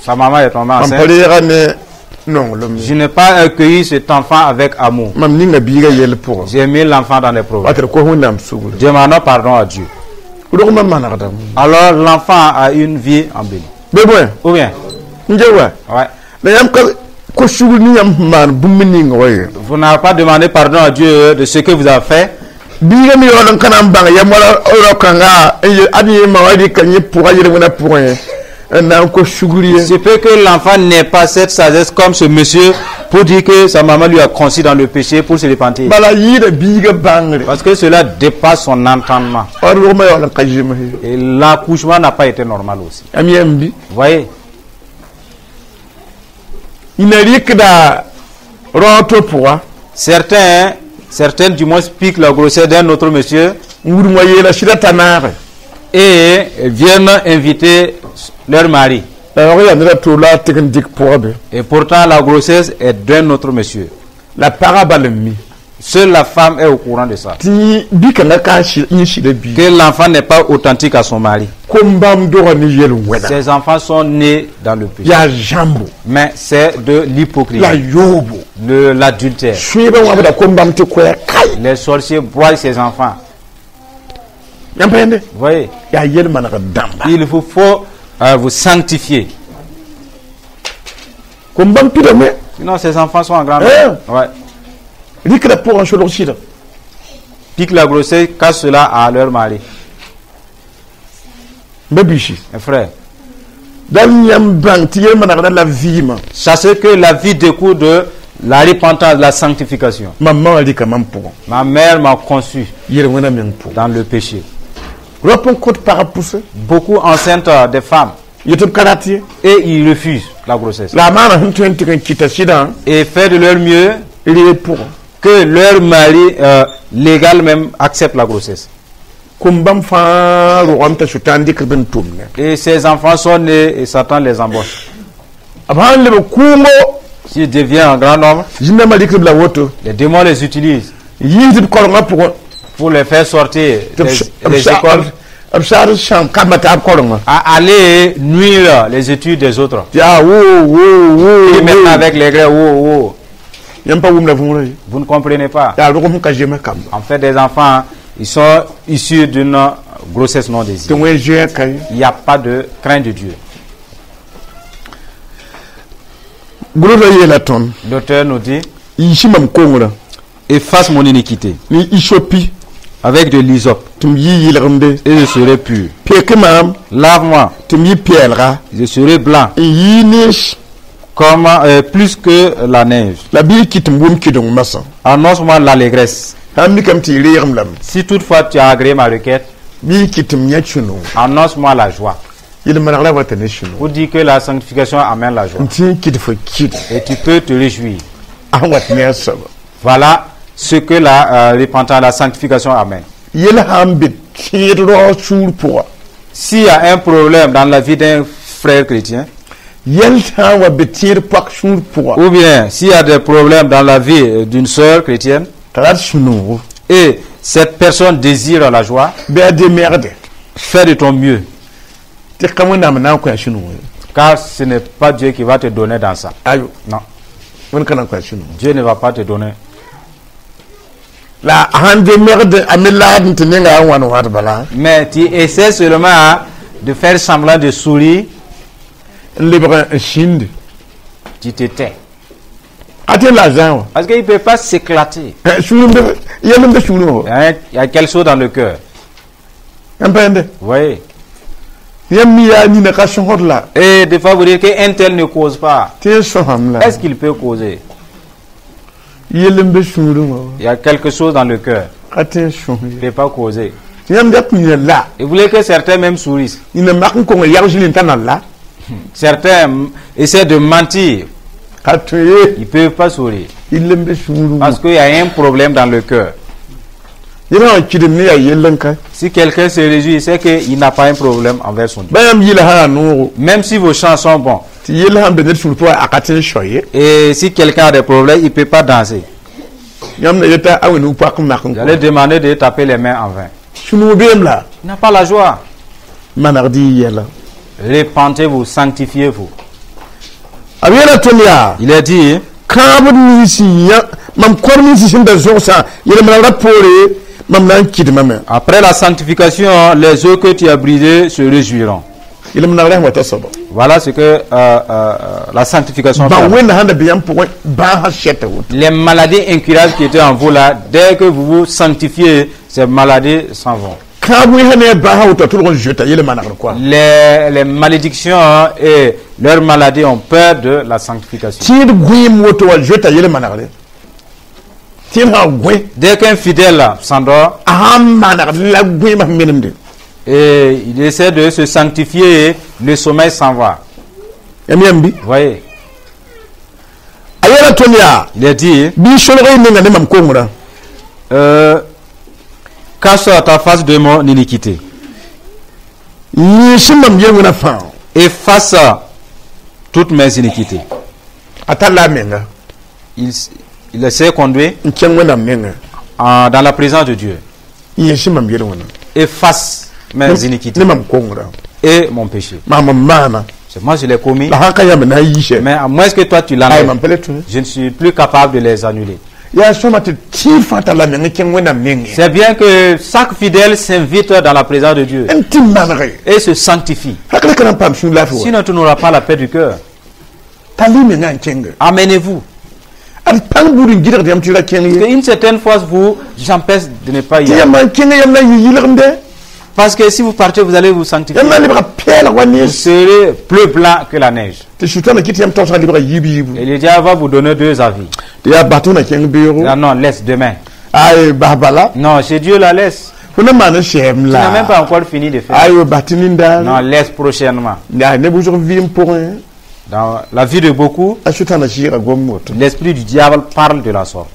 sa maman est tombée Mam pa enceinte, reega ne nonglem ye. Je n'ai pas accueilli cet enfant avec amour. Mam ninga biiga yɛl pʋgã. J'ai mis l'enfant dans les problèmes. Wat d kos Wẽnnaam sugr. Demandons pardon à Dieu. Rogmã manegdame. Alors, l'enfant a une vie en béni. Bɩ bõe Ou bien, n ge wa ouais. La yãmb ka kos sugr ne yãmb sẽn maan bũmb ning wa ye. Vous n'avez pas demandé pardon à Dieu de ce que vous avez fait. Biiga me yaool n ka na n bãng yam wala rao-kãnga n ye ad yẽ ma wa rɩka yẽ pʋga yel-wẽnã pʋgẽ n na n kos sugr ye. C'est peut que l'enfant n'ait pas cette sagesse comme ce monsieur pour dire que sa maman lui a conçu dans le péché pour se repentir. Bala yɩɩda biiga bãngre. Parce que cela dépasse son entendement. Ad rogmã yaool n ka zems ye. Et l'accouchement n'a pas été normal aussi. Yãmb yãmb bɩ. Vous voyez, Yĩna rɩkda rao to pʋga certains, certaines du moins piquent la grossesse d'un autre monsieur n wudg wa yeela sɩda t'a naage. Et viennent inviter leur mari. La rog yaa ned a to la a tɩg n dɩk pʋga be. Et pourtant, la grossesse est d'un autre monsieur. La pagã bal n mi. Seule la femme est au courant de ça. Tɩ bi-kãngã ka yẽ sɩda bii. Que l'enfant n'est pas authentique à son mari. Kom-bãmb doga ne yel-wẽna. Ses enfants sont nés dans le péché. Yaa zãmbo. Mais c'est de l'hypocrisie, La yoobo. De l'adultère. Sũebã wãbda kom-bãmb tɩ koɛɛg kae. Les sorciers broient ses enfants. Yãmb pa yẽnde. Vous voyez, Yaa yel-maneg dãmba. Il vous faut euh, vous sanctifier. Kom-bãmb pidame. Sinon, ces enfants sont en grande. Hein? Ouais. Rɩkda pʋgã solg sɩda. Piquent la grossesse, cassent cela à leur mari. Ba biisi. Mes frères, Dal yãmb bãng tɩ yel-manegda la vɩɩmã. Sachez que la vie découle de la repentance, de la sanctification. Mam ma wã rɩka mam pʋgã. Ma mère m'a conçu Yel-wẽna meng pʋgã. Dans le péché. Rap n kõt pagb pʋse. Beaucoup enceintes euh, des femmes yetɩ b ka rat ye. Et ils refusent la grossesse. La a maana sẽn tõe n tɩg n kɩta sɩdã. Et fait de leur mieux Reeg pʋgã. Que leur mari euh, légal même accepte la grossesse. Kom-bãmb fãa rogame t'a sʋtãan dɩkd b n tʋmne. Et ces enfants sont nés et Satan les embauche. B sãn leb kʋʋngo S'ils deviennent un grand nombre, zĩndãmbã rɩkd b la woto les démons les utilisent yiisd b korengã pʋgẽ pour les faire sortir tɩ des, des écoles b saad sãam kamba taab korengã à aller nuire les études des autres. tɩ yaa wo wo wo. Et maintenant avec les Grecs, oh, oh, Yãmb pa wʋmda võorã ye. Vous ne comprenez pas. Yaa rog sẽn ka zems kamba. En fait, des enfants, ils sont issus d'une grossesse non Tɩ désirée. wẽn zoɛɛ ka ye. Il n'y a pas de crainte de Dieu. Gʋlsã yeela tõnd. L'auteur nous dit, Yiisi mam kongrã. Efface mon iniquité ne isopi avec de l'hysope tɩ m yɩ yɩlgemde. Et je serai pur. Pek maam Lave-moi, tɩ m yɩ pɛɛlga je serai blanc n yɩ nens comme euh, plus que la neige. La bɩ y kɩt m wʋm kɩdeng masã. Annonce-moi l'allégresse. Sã n mikame tɩ y reegem lame. Si toutefois tu as agréé ma requête, Bɩ y kɩt m yã sũ-noog. Annonce-moi la joie. Yel-manegrã wata ne sũ-noog. Pour dire que la sanctification amène la joie. N tɩ n kɩt fo kɩt. Et tu peux te réjouir. A sẽn wat ne a soaba. Voilà ce que la euh, repentance, la sanctification amène. Yel sã n be tẽed raoog sũur pʋga. S'il y a un problème dans la vie d'un frère chrétien, Yɛl sã n wa be tẽed poak sũur pʋga. Ou bien s'il y a des problèmes dans la vie euh, d'une sœur chrétienne, T'a rat sũ-noogo. Et cette personne désire la joie, Bɩ a demegde. Fais de ton mieux. Tɩ ka Wẽnnaam na n kõ a sũ-noog. Car ce n'est pas Dieu qui va te donner dans ça. Ayo. Non, Wẽnd ka na n kõ a sũ-noog. Dieu ne va pas te donner. La a sãn demegd a me laad n tɩ nenga a wãn wat bala. Mais tu essaies seulement de faire semblant de sourire, N lebg n sĩndi. Tu te tais. A tɩ la a zã wã. Parce qu'il ne peut pas s'éclater. Sũur n be yɛl n be sũurẽ wã. Il y a un- il y a quelque chose dans le cœur. N pẽende. Vous voyez? Yãmb mi yaa nina ka sõsd la. Et des fois, vous dites qu'un tel ne cause pas. Tɩ n sõsame la. Est-ce qu'il peut causer? Yell n be sũurẽ wã. Il y a quelque chose dans le cœur. Ka tɩ n sõs. Il ne peut pas causer. Tɩ yãmb dat nina la. Et vous voulez que certains même sourissent. Nina mak n kong yag zĩnd n t'a na la. Certains essaient de mentir. Ka tõe ye. Ils ne peuvent pas sourire. Yell n be sũurẽ wã. Parce qu'il y a un problème dans le cœur. Yẽl sã n kɩdem ne yaa yell n ka. Si quelqu'un se réjouit, c'est qu'il n'a pas un problème envers son Dieu. Ba yãmb yɩla sã yaa noogo. Même si vos chants sont bons. Tɩ yell sãn be ned sũur pʋgã a ka tɩ n sao ye. Et si quelqu'un a des problèmes, il ne peut pas danser. Yãmb na yeta a wẽnd poak n mak n Vous allez demander de taper les mains en vain. Sũ-noog beem la. Il n'a pas la joie. Manegd y yɛla. Répentez-vous, sanctifiez-vous. B yeela tõnd yaa. Il est dit, Kãabd nins yã mam kor nins sẽn da zõgsã yel-manegrã poore mam na n kɩdmame. Après la sanctification, les eaux que tu as brisées se réjouiront. Yel-manegrã sẽn wata soaba. Voilà ce que euh, euh, la sanctification Ba fait. Wẽnda sãn da be yãmb pʋgẽ bãasã sɛta woto. Les maladies incurables qui étaient en vous là, dès que vous vous sanctifiez, ces maladies s'en vont. Kãab wẽnsã ne a bãasã woto a tʋlg n zoeta yel-manegr koa. Les, les malédictions hein, et leurs maladies ont peur de la sanctification. Tẽed gõeem woto wa zoeta yel-manegre tẽed sã gõe. Dès qu'un fidèle s'endort A sãn manegd la gõeemã sẽn menemde. Et il essaie de se sanctifier, le sommeil s'en va. Yãmb yãmb bɩ. Vous voyez, A yeela tõnd yaa. Il est dit, Bɩ solg y menga ne mam kongrã. euh, cache ta face de mon iniquité. Yĩs mam yel-wẽnã fãa. Efface toutes mes iniquités. A tar la a menga. Il, il s'est conduit N kẽng Wẽnnaam nengã. en- dans la présence de Dieu. Yẽs mam yel-wẽnã. Efface mes iniquités Ne mam kongrã. Et mon péché. Maam n maana. C'est moi, je l'ai commis. La sãn ka yãmb na n yiisɛ. Mais à moins que toi tu Ay l'enlèves, mam pa le tõe. Je ne suis plus capable de les annuler. Yaa sõma tɩ tẽed fãa tar la meng kẽng Wẽnnaam nengẽ. C'est bien que chaque fidèle s'invite dans la présence de Dieu N tɩ manege. Et se sanctifie. Hakl ka na n paam sũur laafɩ wa. Sinon, tu n'auras pas la paix du cœur. Tall y mengã n kẽnge. Amenez-vous. Ad pãng buud n gɩdgd yãmb tɩ ra kẽng ye. Une certaine force vous empêche de ne pas y Tɩ aller. yãmb n kẽngã yãmb na n yɩ yɩlgemde. Parce que si vous partez, vous allez vous sanctifier. Yãmb na n lebga pɛɛlg wa Vous nees. Serez plus blanc que la neige. Tɩ sʋtãna kɩt yãmb taoosgã lebga yiib yiibu. Et le diable va vous donner deux avis. Tɩ yaa bas tɩ na kẽng beoogo. Ah non, laisse demain. Ay bas bala. Non, chez Dieu la laisse. Fo na maan n sɛɛm Tu n'as même la. Pas encore fini de faire. Ayo bas tɩ nindaar. Non, laisse prochainement. Yaa neb wʋsg vɩɩm pʋgẽ. Dans la vie de beaucoup, A sʋtãna sɩɩga gom woto. L'esprit du diable parle de la sorte.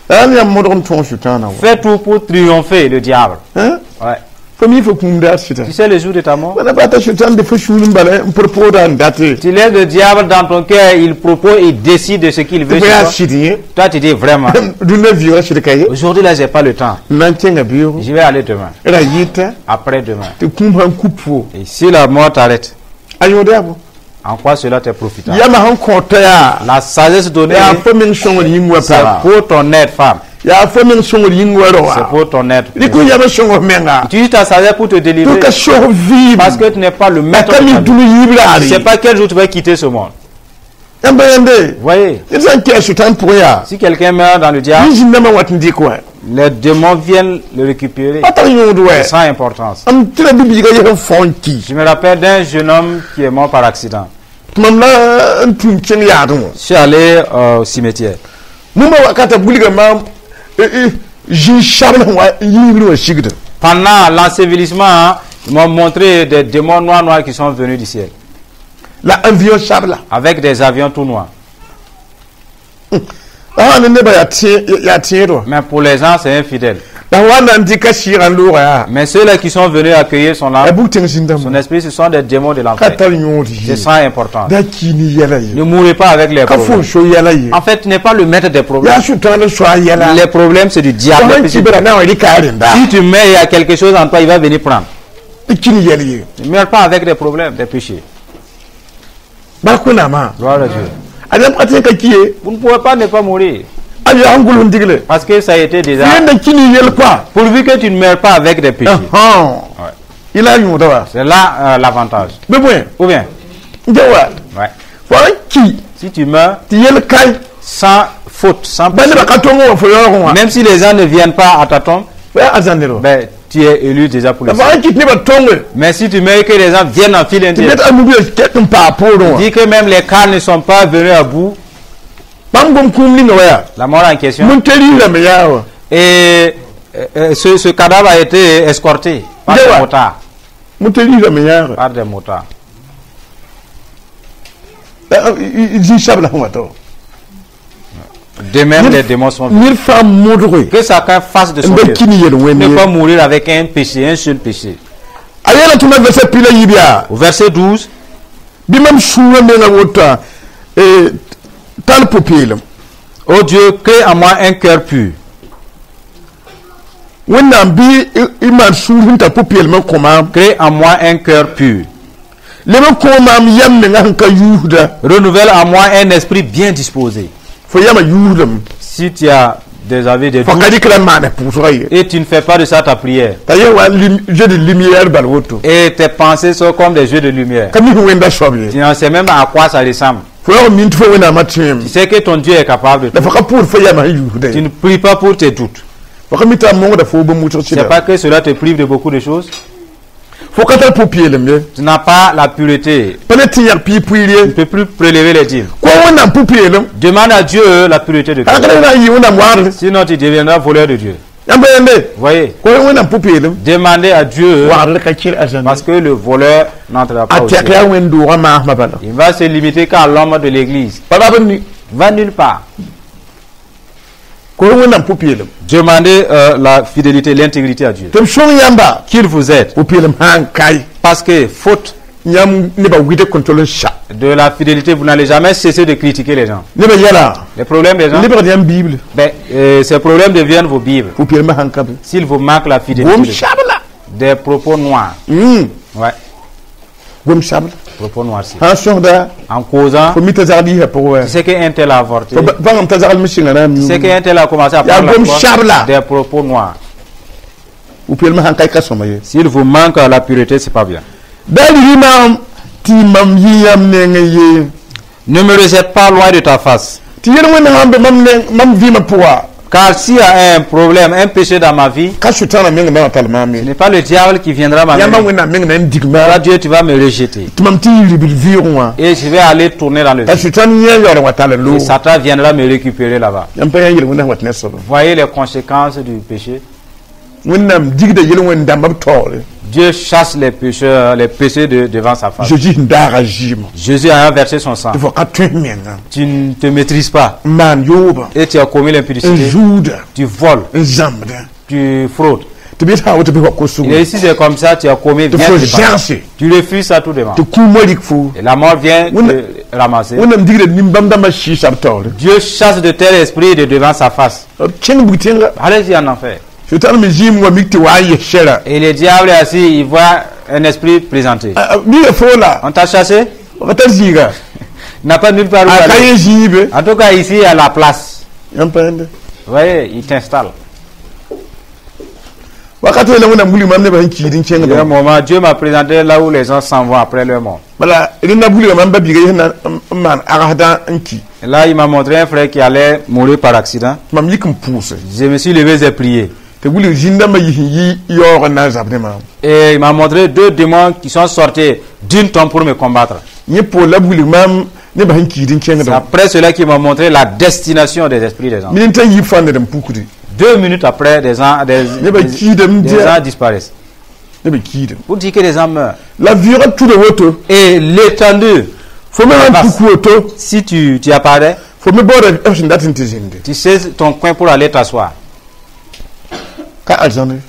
La yãmb modg n tõog sʋtãana wa. Fais tout pour triompher le diable. Hein? Ouais. Fo mi fo kũum daar sɩda. Tu sais le jour de ta mort, Wãna bata sʋtãan de fo sũur n bala n pʋd pʋʋda n date. Tu laisses le diable dans ton cœur, il propose, il décide de ce qu'il veut Tɩ fo sur yaa toi. sɩd yẽ. Toi, tu dis vraiment, Dũnna vɩʋʋgã sɩd ka ye. Aujourd'hui là, j'ai pas le temps. N na n kẽnga beoogo. Je vais aller demain, Ra yɩta. Après-demain. Tɩ kũum sãn kup fo. Et si la mort t'arrête, A yõod yaa bõ. En quoi cela t'est profitable? Yãmb sẽn kõta yaa. La sagesse donnée, Yaa fo meng sõngr yĩng wa c'est paga. Pour ton aide, femme. Yaa fo meng sõngr yĩng wa C'est roa. Pour ton aide. Rɩk yam sõng menga. Utilise ta sagesse pour te délivrer. Tɩ ka sog vɩɩm. Parce que tu n'es pas le maître A ka de mi ta vie. dũni yiib raare. Tu ne sais pas quel jour tu vas quitter ce monde. Yãmb yãnde. Vous voyez, Ned sã n kɛɛ sʋtãn pʋgẽ yaa. Si quelqu'un meurt dans le diable, Zĩn-dãmbã wat n dɩk wã. Les démons viennent le récupérer. Pa tar yõod wɛ. Sans importance. M tɩ la bi-biigã yes n fao n ki. Je me rappelle d'un jeune homme qui est mort par accident. Tɩ mam la n tũum kẽng yaadẽ wã. Je suis allé euh, au cimetière. Mumã wakata wilga maam zĩ-sabl sẽn wa yiibr wã sigda. Pendant l'ensevelissement, hein, Ils m'ont montré des démons noirs noirs qui sont venus du ciel. La avion sabla. Avec des avions tout noirs. La sã ne nebã yaa tẽ- yaa tẽed wã. Mais pour les gens, c'est infidèle. La wa na n dɩka sɩɩgã n loogã yaa. Mais ceux-là qui sont venus accueillir son yaa âme, bug tẽng zĩndame. Son esprit, ce sont des démons de Ka l'enfer. Tar yõod C'est ye. ça important. Da ki ne yɛla ye. Ne mourrez pas avec les Ka fo problèmes. So yɛla ye. En fait, tu n'es pas le maître des problèmes. Yaa sʋtãan soa yɛla. Les problèmes, c'est du diable. Fo sãn ki bara na n wa rɩka a rẽnda. Si tu mets, il y a quelque chose en toi, il va venir prendre. Tɩ ki ne yɛl ye. Ne meurs pas avec des problèmes, des péchés. Bark Wẽnnaamã. Gloire à Dieu. A yãmb ka tõe n ka ki ye. Vous ne pouvez pas ne pas mourir. A yaa n gʋls n digle. Parce que ça a été déjà. Yẽnda ki ne yɛl koa. Pourvu que tu ne meurs pas avec des péchés. Ouais. Il a yõoda wa. C'est là euh, l'avantage. Bɩ bõe. Ou bien, N wa. Ouais. Fo sãn ki Si tu meurs tɩ yɛl kae. Sans faute, sans Ba péché, nebã ka tõng wã fo yaoogẽ wã. Même si les gens ne viennent pas à ta tombe, Fo yaa arzãn wã. Ben, tu es élu déjà pour le La fo ciel. Sãn kɩt nebã tõnge. Mais si tu meurs et que les gens viennent en file Tɩ indienne, net a mubia kɛk n paa poorẽ wã. Dis que même les cas ne sont pas venus à bout, Bãmb gom kũum ninga wa yaa. La mort en question. Mun-teriisame yaa wã. Et euh, euh, ce, ce cadavre a été escorté par des Dewa. Motards. Mun-teriisame yaa. Par des motards. Zĩ sabla sẽn wa tao. De même, les démons sont venus. Ned fãa modge. Que chacun fasse de son N ba mieux. ki ne yel wẽnd Ne ye. Pas mourir avec un péché, un seul péché. A yeela tɩ ma verset pi la yiib yaa. Au verset douze, Bɩ mam sũurã menga wota tar pʋ-peelem. Ô Dieu, crée en moi un cœur pur. Wẽnnaam bɩ y maan sũur sẽn tar pʋ-peelem n kõ maam. Crée en moi un cœur pur. Leb n kõ maam yam menga sẽn ka yuusda. Renouvelle en moi un esprit bien disposé. Fo yamã yuusdame. Si tu as des avis de Fo doute ka dɩk la n maana pʋʋsgã ye. Et tu ne fais pas de ça ta prière, T'a yẽ wa jeu de lumière bal woto. Et tes pensées sont comme des jeux de lumière, Ka mi sẽn wẽnda soab ye. Tu n'en sais même à quoi ça ressemble. Fo yaoog n min tɩ fo Wẽnnaamã tẽem. Tu sais que ton Dieu est capable de La tout. fo ka pʋʋd fo yamã sẽn yuusda Tu ye. Ne pries pas pour tes doutes. Fo ka mi tɩ a mongda fo bũmb wʋsg C'est sɩda. Pas que cela te prive de beaucoup de choses. Fo ka tar pʋ-peelem ye. Tu n'as pas la pureté. Pa ne tɩ yãg pii pʋɩɩr Tu ye. Ne peux plus prélever les dîmes. Kõ Wẽnnaam pʋ-peelem. Demande à Dieu la pureté de cœur. Kãnkã na n yɩ Wẽnnaam wagdre. Sinon, tu deviendras voleur de Dieu. Yãmb pa yẽnde. Voyez, Kõ Wẽnnaam pʋ-peelem. Demandez à Dieu Wagdr ka kɩr arzãn. Parce que le voleur n'entrera pas A au tɛk ciel. yaa wẽn-doogã maasmã bala. Il va se limiter qu'à l'homme de l'église. Pa rab n ni. Va nulle part. Kõ Wẽnnaam pʋ-peelem. Demandez euh, la fidélité, l'intégrité à Dieu. Tɩ b sõng yãmba. Qu'il vous aide. Pʋ-peelem sã n kae. Parce que faute Yãmb nebã wɩd kõn tol n sa. De la fidélité, vous n'allez jamais cesser de critiquer les gens. Nebã yɛla. Les problèmes des gens, Lebgd yãmb Bible. Ben, euh, ces problèmes deviennent vos Bibles. Pʋ-peelmã sãn ka be. S'il vous manque la fidélité, Gom sabla. Des propos noirs. Mm. Ouais, Gom sabla. Propos noirs. Sã n sõsda. En causant, Fo mi t'a zagd yisa pʋgẽ wa. Tu sais qu'un tel a avorté. Fo bãngame t'a zagl me sɩnga na n Tu sais qu'un tel a commencé à Ya prendre la gom foi, sabla. Des propos noirs. Pʋ-peelmã sãn kae ka sõma ye. S'il vous manque la pureté, c'est pas bien. Da rɩ maam tɩ mam yɩ yãmb nengẽ ye. Ne me rejette pas loin de ta face. Tɩ yel wẽnd sãn be mam neng mam vɩɩmã pʋga. Car s'il y a un problème, un péché dans ma vie, Ka sʋtãanã meng na n tall maam ce ye. N'est pas le diable qui viendra Yãmba m'amener. Wẽnnaam meng na n dig Toi, maam. Dieu, tu vas me rejeter. Tɩ mam tɩ yɩ ribl vɩʋʋgẽ wã. Et je vais aller tourner dans le T'a vide. sʋtãan yẽ yaool n wa tall n Et loog. Satan viendra me récupérer là-bas. Yãmb pa yã yel wẽnd sẽn wat ne soaba. Voyez les conséquences du péché. Wẽnnaam digda yel wẽnd dãmba b taoore. Dieu chasse les pécheurs, les péchés de- devant sa face. Jésus sẽn daaga zɩɩmã. Jésus a versé son sang. Tɩ fo ka tõe menga. Tu ne te maîtrises pas. N maan yooba. Et tu as commis N l'impudicité. zuuda. Tu voles. N zãmbda. Tu fraudes. Tɩ bɩ sã n woto bɩ wa kosgo. Et ici, c'est comme ça, tu as commis. Tɩ Viens fo te battre. zãgse. Tu refuses ça tout devant. Tɩ kũumã rik fo. Et la mort vient Oui, te ramasser. Wẽnnaam digda nin-bãmb dãmbã sɩɩsa b taoore. Dieu chasse de tels esprits de devant sa face. B kẽng bug tẽnga. Allez-y en enfer. Sʋtãan me zĩim wa mik tɩ wa n yes sɛra. Et le diable est assis, il voit un esprit présenté. Mika fo la. On t'a chassé? Ka tar zĩiga. Il n'a pas nulle part où A ka aller. yẽ zĩibe. En tout cas, ici, il y a la place. Yãmb pa yẽnde. Vous voyez, il t'installe. Wakat la Wẽnnaam wilg mam nebã sẽn kiid n Il y a un kẽngdã. Moment, Dieu m'a présenté là où les gens s'en vont après leur mort. Bala rẽnda wilga mam ba biiga yes na n maan agsdã n ki. Et là, il m'a montré un frère qui allait mourir par accident. Mam yik n pʋʋse. Je me suis levé, j'ai prié. Tɩ wilg zĩn-dãmbã yis n yi yaoog n na n zab ne maam. Et il m'a montré deux démons qui sont sortis d'une tombe pour me combattre. Yẽ poor la b wilg maam nebã sẽn kiid n C'est kẽngdã. Après cela qu'il m'a montré la destination des esprits des gens. Minute n yi fãa ned n pukdi. Deux minutes après, des gens, des, Neba des, kiidame des dia. Gens disparaissent. Neb kiidame. Pour dire que les gens meurent. La vɩʋʋgã tuda woto. Et l'étendue, Fo me sãn puk woto. si tu, tu apparais, Fo me baooda b sẽn dat n tɩ zĩnde. Tu sais ton coin pour aller t'asseoir. Ka arzãne.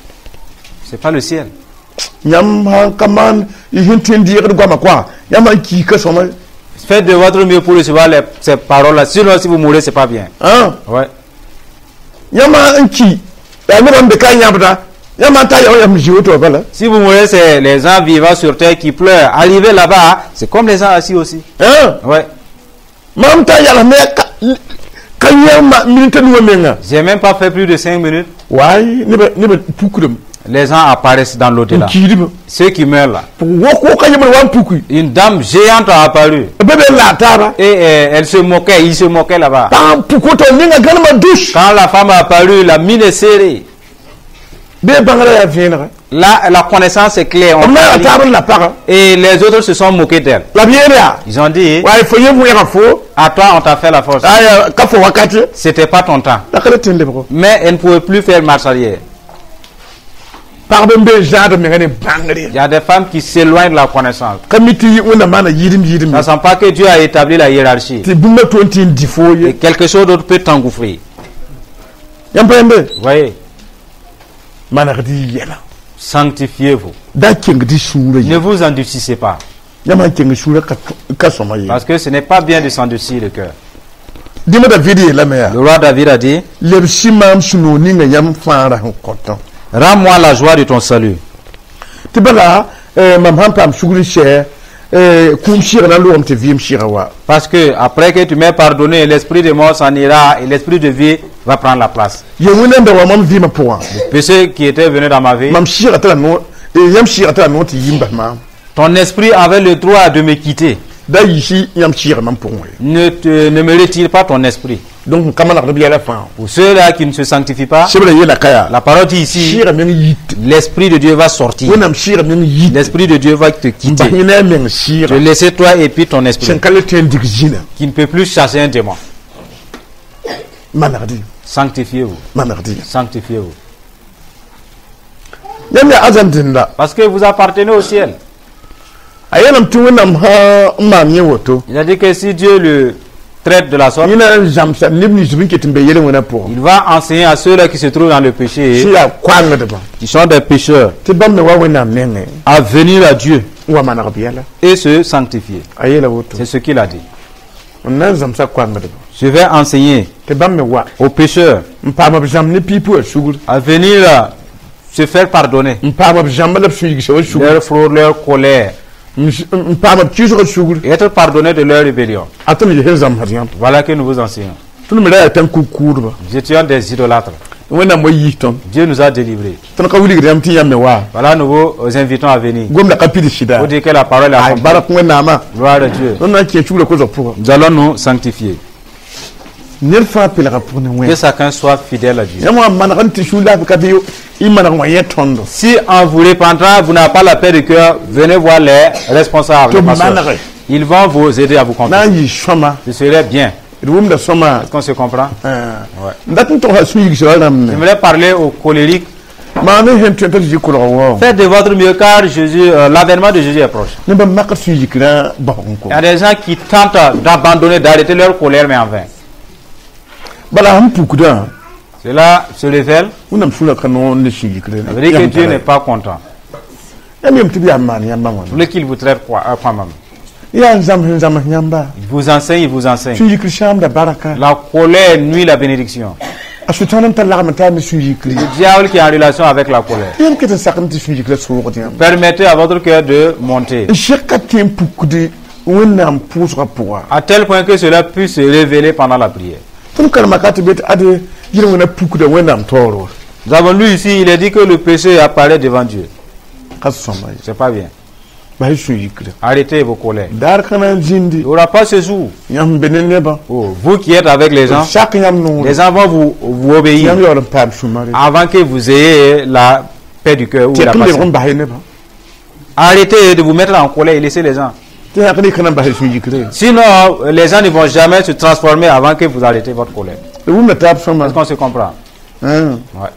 C'est pas le ciel. Yãmb sãn ka maan y sẽn tõe n deegd goamã koa yãmb sãn kiika sõma. Faites de votre mieux pour recevoir les- ces paroles-là. Sinon, si vous mourrez, c'est pas bien. Ã. Ouais. Yãmb n ki yaa nebã n be ka yãbda yãmb sãn ta yã yãmb zĩ woto wã bala. Si vous mourrez, c'est les gens vivant sur terre qui pleurent. Arrivez là-bas, c'est comme les gens assis aussi. Ã. Ouais. Mam ta yals ne ka ka yã minita nuwã menga. J'ai même pas fait plus de cinq minutes. Waay nebã nebã pukdame. Les gens apparaissent dans N l'au-delà. Kiidame. Ceux qui meurent là. Wok woka yembr wa n puki. Une dame géante a apparu. B be n laag taaba. Et euh, elle se moquait, il se moquait là-bas. Pag n puk woto ninga gãnemã dus. Quand la femme a apparu, la mine est serrée. Bee bãngrã yaa vẽenega. Là, la connaissance est claire. On B naaga taab n la paga. Et les autres se sont moqués d'elle. La b yeel yaa. Ils ont dit, Waay fo yẽ wẽega fo. À toi, on t'a fait la force. Aya ka fo wakat. C'était pas ton temps. La ka le tɩ n lebgo. Mais elle ne pouvait plus faire marche arrière. Pagb n be zãad menga ne bãngre. Il y a des femmes qui s'éloignent de la connaissance. Ka mi tɩ Wẽnnaam maana yɩɩdem yɩɩdem. Ne sachant pas que Dieu a établi la hiérarchie. Tɩ bũmba tõe n tɩ n dɩ foo ye. Et quelque chose d'autre peut t'engouffrer. Yãmb pa yembe. Vous voyez, Manegd y yɛla. Sanctifiez-vous. Da keng tɩ sũurã Ne ye. Vous endurcissez pas. Yãmb sãn keng sũurã ka ka sõma ye. Parce que ce n'est pas bien de s'endurcir le cœur. Dĩma David yeelame yaa. Le roi David a dit, Lebsi maam sũ-noog ninga yãmb fãagrã sẽn kõtã. Rends-moi la joie de ton salut. Tɩ bala eh, mam sãn paam sugr n sɛ kũum sɩɩgã na n logame tɩ vɩɩm sɩɩgã wa. Parce que après que tu m'aies pardonné, l'esprit de mort s'en ira et l'esprit de vie va prendre la place. Yel-wẽnda n da wa mam vɩɩmã pʋgã. Le péché qui était venu dans ma vie, Mam sɩɩgã tara no yãmb sɩɩgã tara noor tɩ yi n bas maam. Ton esprit avait le droit de me quitter. Da yiisi yãmb sɩɩgã mam pʋgẽ ye. Ne, te, ne me retire pas ton esprit. Donc n ka manegd b yɛla fãa. Pour ceux-là qui ne se sanctifient pas, Sebrã yeela ka yaa. La parole dit ici, Sɩɩgã meng yit. L'esprit de Dieu va sortir. Wẽnnaam sɩɩgã meng yit. L'esprit de Dieu va te N quitter. bas yẽ ne a meng Te sɩɩga. Laisser toi et puis ton esprit Sẽn ka le tõe n dig zĩnã. Qui ne peut plus chasser un démon. Manegd. Sanctifiez-vous. Manegd. Sanctifiez-vous. Yãmb yaa arzãn dẽnda. Parce que vous appartenez au ciel. A yeelame tɩ Wẽnnaam sã n maan yẽ woto. Il a dit que si Dieu le traite de la sorte, Yẽ na n zãmsa neb nins b n ket n be yel-wẽnã pʋgẽ. Il va enseigner à ceux-là qui se trouvent dans le péché, Sẽn yaa koangdbã. Qui sont des pécheurs, Tɩ bãmb me wa Wẽnnaam nengẽ. À venir à Dieu N wa maneg b yɛla. Et se sanctifier. A yeela woto. C'est ce qu'il a dit. N na n zãmsa koangdbã. Je vais enseigner Tɩ bãmb me wa. Aux pécheurs N paam b zãmb ne pipi wã sugr. À venir euh, se faire pardonner N paam b zãmba la b sũ-yigsã wã sugr. Leur fraude, leur colère, N n paam b kɩsgã sugr. Et être pardonnés de leur rébellion. A tõnd yel sẽn zãmsd yãmb. Voilà que nous vous enseignons. Tõnd me ra yaa tãn-kug-kʋʋdba. Nous étions des idolâtres. Wẽnnaam wa yiis tõnd. Dieu nous a délivrés. Tõnd ka wilgd yãmb tɩ yãmb me wa. Voilà, nous vous invitons à venir. Gomda ka pids sɩda. Pour dire que la parole est Ay accomplie. barak Wẽnnaamã. Gloire à Dieu. Tõnd na n kẽ sugrã kosg pʋgã. Nous allons nous sanctifier. Ned fãa pelga pʋg ne Que Wẽnd. Chacun soit fidèle à Dieu. Yãmb wã maneg n tɩ sũ laafɩ ka bɩ y maneg wã yẽ tõndo. Si en vous repentant, vous n'avez pas la paix de cœur, venez voir les responsables, les Tout pasteurs. manegre. Ils vont vous aider à vous Na confesser. n yɩ sõma. Ce serait bien. D wʋmda sõma. Est-ce qu'on se comprend? N dat n togsa sũ-yigsã wã rãmb ne. J'aimerais parler aux colériques. Maa ne sẽn tõe t'a Zezi kolg wao. Faites de votre mieux car Jésus, euh, l'avènement de Jésus est proche. Neb n mak sũ-yikrã basg n ko. Il y a des gens qui tentent d'abandonner, d'arrêter leur colère, mais en vain. Bala sẽn pukdã. Cela se révèle, Wẽnnaam sũurã ka noor ne sũ-yikrã. Ça veut dire que Dieu n'est pas content. Yãmb yem tɩ b yaa n maan yãmbã Vous wãna. Voulez qu'il vous traite quoi, euh, quand même? Yaa n zãms n zãms yãmba. Il vous enseigne, il vous enseigne. Sũ-yikr sãamda baraka. La colère nuit la bénédiction. A sʋtãan n tar lagm n taar ne sũ-yikri. Le diable qui est en relation avec la colère. Yãmb ket n sak n tɩ sũ-yikrã soogd yãmb. Permettez à votre cœur de monter. N sẽk ka tẽ n pukd Wẽnnaam pʋʋsgã pʋga. À tel point que cela puisse se révéler pendant la prière. Tõnd karema ka tɩ be tɩ ade yel-wẽna pukda Wẽnnaam taoor wa. Nous avons lu ici, il est dit que le péché apparaît devant Dieu. Ka sõma ye. C'est pas bien. Bas y sũ-yikrã. Arrêtez vos colères. Daar kãna n zĩndi. Il n'y aura pas ce jour. Yãmb be ne nebã. Oh, vous qui êtes avec les gens, Sak yãmb noore. Les gens vont vous, vous obéir Yãmb yaool n paam sũ-mare. Avant que vous ayez la paix du cœur ou Tɩ la yak n lebg patience. n bas nebã. Arrêtez de vous mettre en colère et laissez les gens. Tɩ yak n rɩk n bas sũ-yikrã. Sinon, les gens ne vont jamais se transformer avant que vous arrêtez votre colère. D wʋmda taab sõma. Est-ce qu'on se comprend? Hum. Ouais.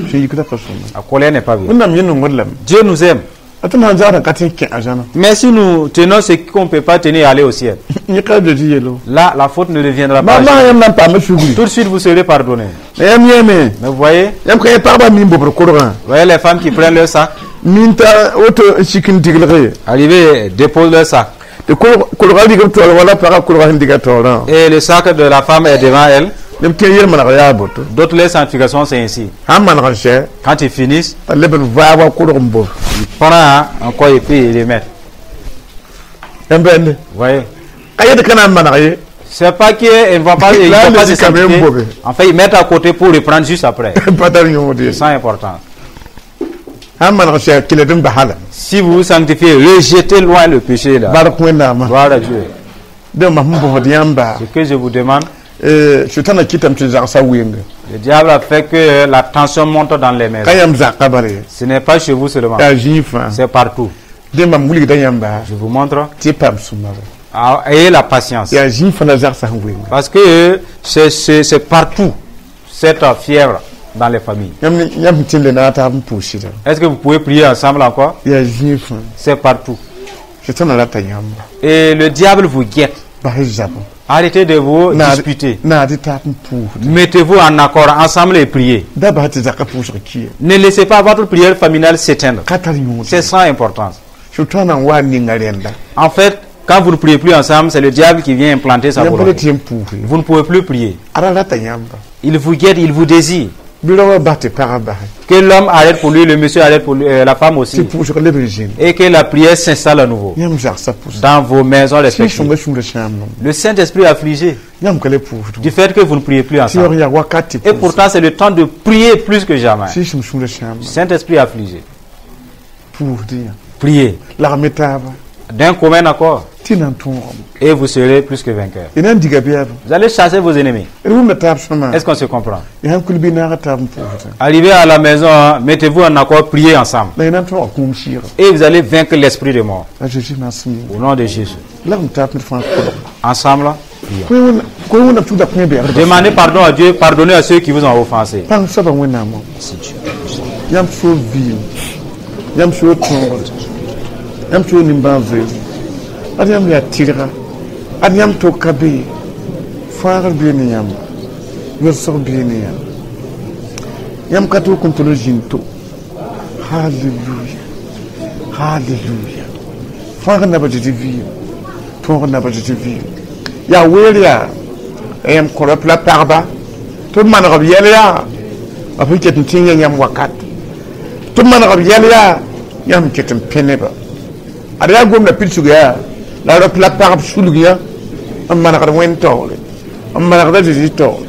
Sũ-yikdã pa sõma. La colère n'est pas bien. Wẽnnaam yẽ nongd lame. Dieu nous aime. A tɩ sã n zagd n ka tɩ n kẽ arzãna. Mais si nous tenons ce qu'on ne peut pas tenir et aller au ciel, Yẽ ka be tɩ yelo. Là, la faute ne reviendra pas. Ma masã yãmb na n paama sugri. Tout de suite, vous serez pardonné. La yãmb yẽeme. Mais vous voyez, Yãmb ka yẽ pagba mi n bobr korgã. Vous voyez les femmes qui prennent leur sac, Mi n ta woto n sik n diglge. Arrivent, déposent leur sac. Tɩ kolga rig b taoor wala pagã kolga sẽn diga taoorã. Et le sac de la femme est devant elle. Neb kẽ yel-maneg yaa boto. D'autres, les sanctifications, c'est ainsi. Sãn maneg n sɛ. Quand ils finissent, t'a leb n vaag wa kolg n bob. Ils prennent encore et puis ils les mettent. Yãmb bẽnde. Vous voyez? Ka yet ka na n maneg ye. C'est pas qu'ils ne vont pas, ils Là, vont pas les se quand même sanctifier. mauvais. En fait, ils mettent à côté pour reprendre juste après. Pa tar yõod ye. C'est important. Sãn maneg n sɛ keled n basa la. Si vous vous sanctifiez, rejetez loin le péché là. Bark Wẽnnaamã. Gloire à Dieu. Dẽ mam sẽn bõsd yãmba. Ce que je vous demande, Sʋtãna kɩtame tɩ zagsa weenga. Le diable a fait que la tension monte dans les maisons. Ka yãmb zakã bala ye. Ce n'est pas chez vous seulement, Yaa zĩig fãa. C'est partout. Dẽ mam wilgda yãmba Je vous montre. Tɩ y paam sũ-marã. Ah, ayez la patience. Yaa zĩig fãa la zagsã sẽn weenga. Parce que c'est c'est- c'est partout cette fièvre dans les familles. Yãmb yãmb sẽn tɩ n le naag taab n pʋʋsda. Est-ce que vous pouvez prier ensemble encore? Yaa zĩig fãa. C'est partout. Sʋtãna rata yãmba. Et le diable vous guette. Bas y zabo. Arrêtez de vous disputer. Naad taab n pʋʋsda. Mettez-vous en accord ensemble et priez. Da bas tɩ zakã pʋʋsg ki. Ne laissez pas votre prière familiale s'éteindre. Ka tar yõod. C'est sans importance. Sʋtãna n wa n ninga rẽnda. En fait, quand vous ne priez plus ensemble, c'est le diable qui vient implanter sa Yãmb pa volonté. tɩ yẽm pʋʋs ye. Vous ne pouvez plus prier. Ara rata yãmba. Il vous guette, il vous désire. Bɩ raoã bas tɩ pagã base. Que l'homme arrête pour lui, le monsieur arrête pour lui, euh, la femme Tɩ aussi. Pʋʋsg leb n zĩnd. Et que la prière s'installe à nouveau Yãmb zagsã pʋʋsga. Dans vos maisons respectives. Sũ-sõngã sũurã sãam nom. Le Saint-Esprit est affligé Yãmb ka le pʋʋsd. Du fait que vous ne priez plus Tɩ ensemble. yaoog yaa wakat tɩ Et pʋʋs. pourtant, c'est le temps de prier plus que jamais. Sɩ-sõm sũurã sãam. Le Saint-Esprit est affligé. Pʋʋsd yã. Priez Lagm taaba. D'un commun accord Tɩ na n tõogame. Et vous serez plus que vainqueur. Y na n diga bɛɛb. Vous allez chasser vos ennemis. D wʋmda taab sõma. Est-ce qu'on se comprend? Y sãn kul bɩ naag taab n pʋʋsda. Arrivez à la maison, hein, mettez-vous en accord, priez ensemble. La y na n tõoga kũum sɩɩga. Et vous allez vaincre l'esprit de mort. A Zeezi maasem yĩnga. Au nom de Jésus. Lagm taab ned fãa kolg. Ensemble, prions. Koe Wẽnnaam tugda kõ bɛɛgd. Demandez pardon à Dieu, pardonnez à ceux qui vous ont offensé. Pãng soabã Wẽnnaamã. Yãmb soor vɩɩm. Yãmb soor tõogd. Yãmb soor nimbãan-zoeer. Ad yãmb yaa tɩrga. Ad yãmb tok ka be ye. Fãagr bee ne yãmba. Yʋlsg bee ne yãmba. Yãmb ka tɩ n tʋl n zĩnd to. Halleluya. Halleluya. Fãagr naba Zeezi vɩɩm. Tõogr naba Zeezi vɩɩm. Yaa weer yaa la yãmb kõ la pagba tɩ b maneg b yɛl yaa b sẽn ket n tɩ yã yãmb wakat tɩ b maneg b yɛl yaa yãmb sẽn ket n pẽ neba ad yaa gomda pidsg yaa la rap la pagb sulg yã n manegd wẽnd taoore n manegda Zeezi taoore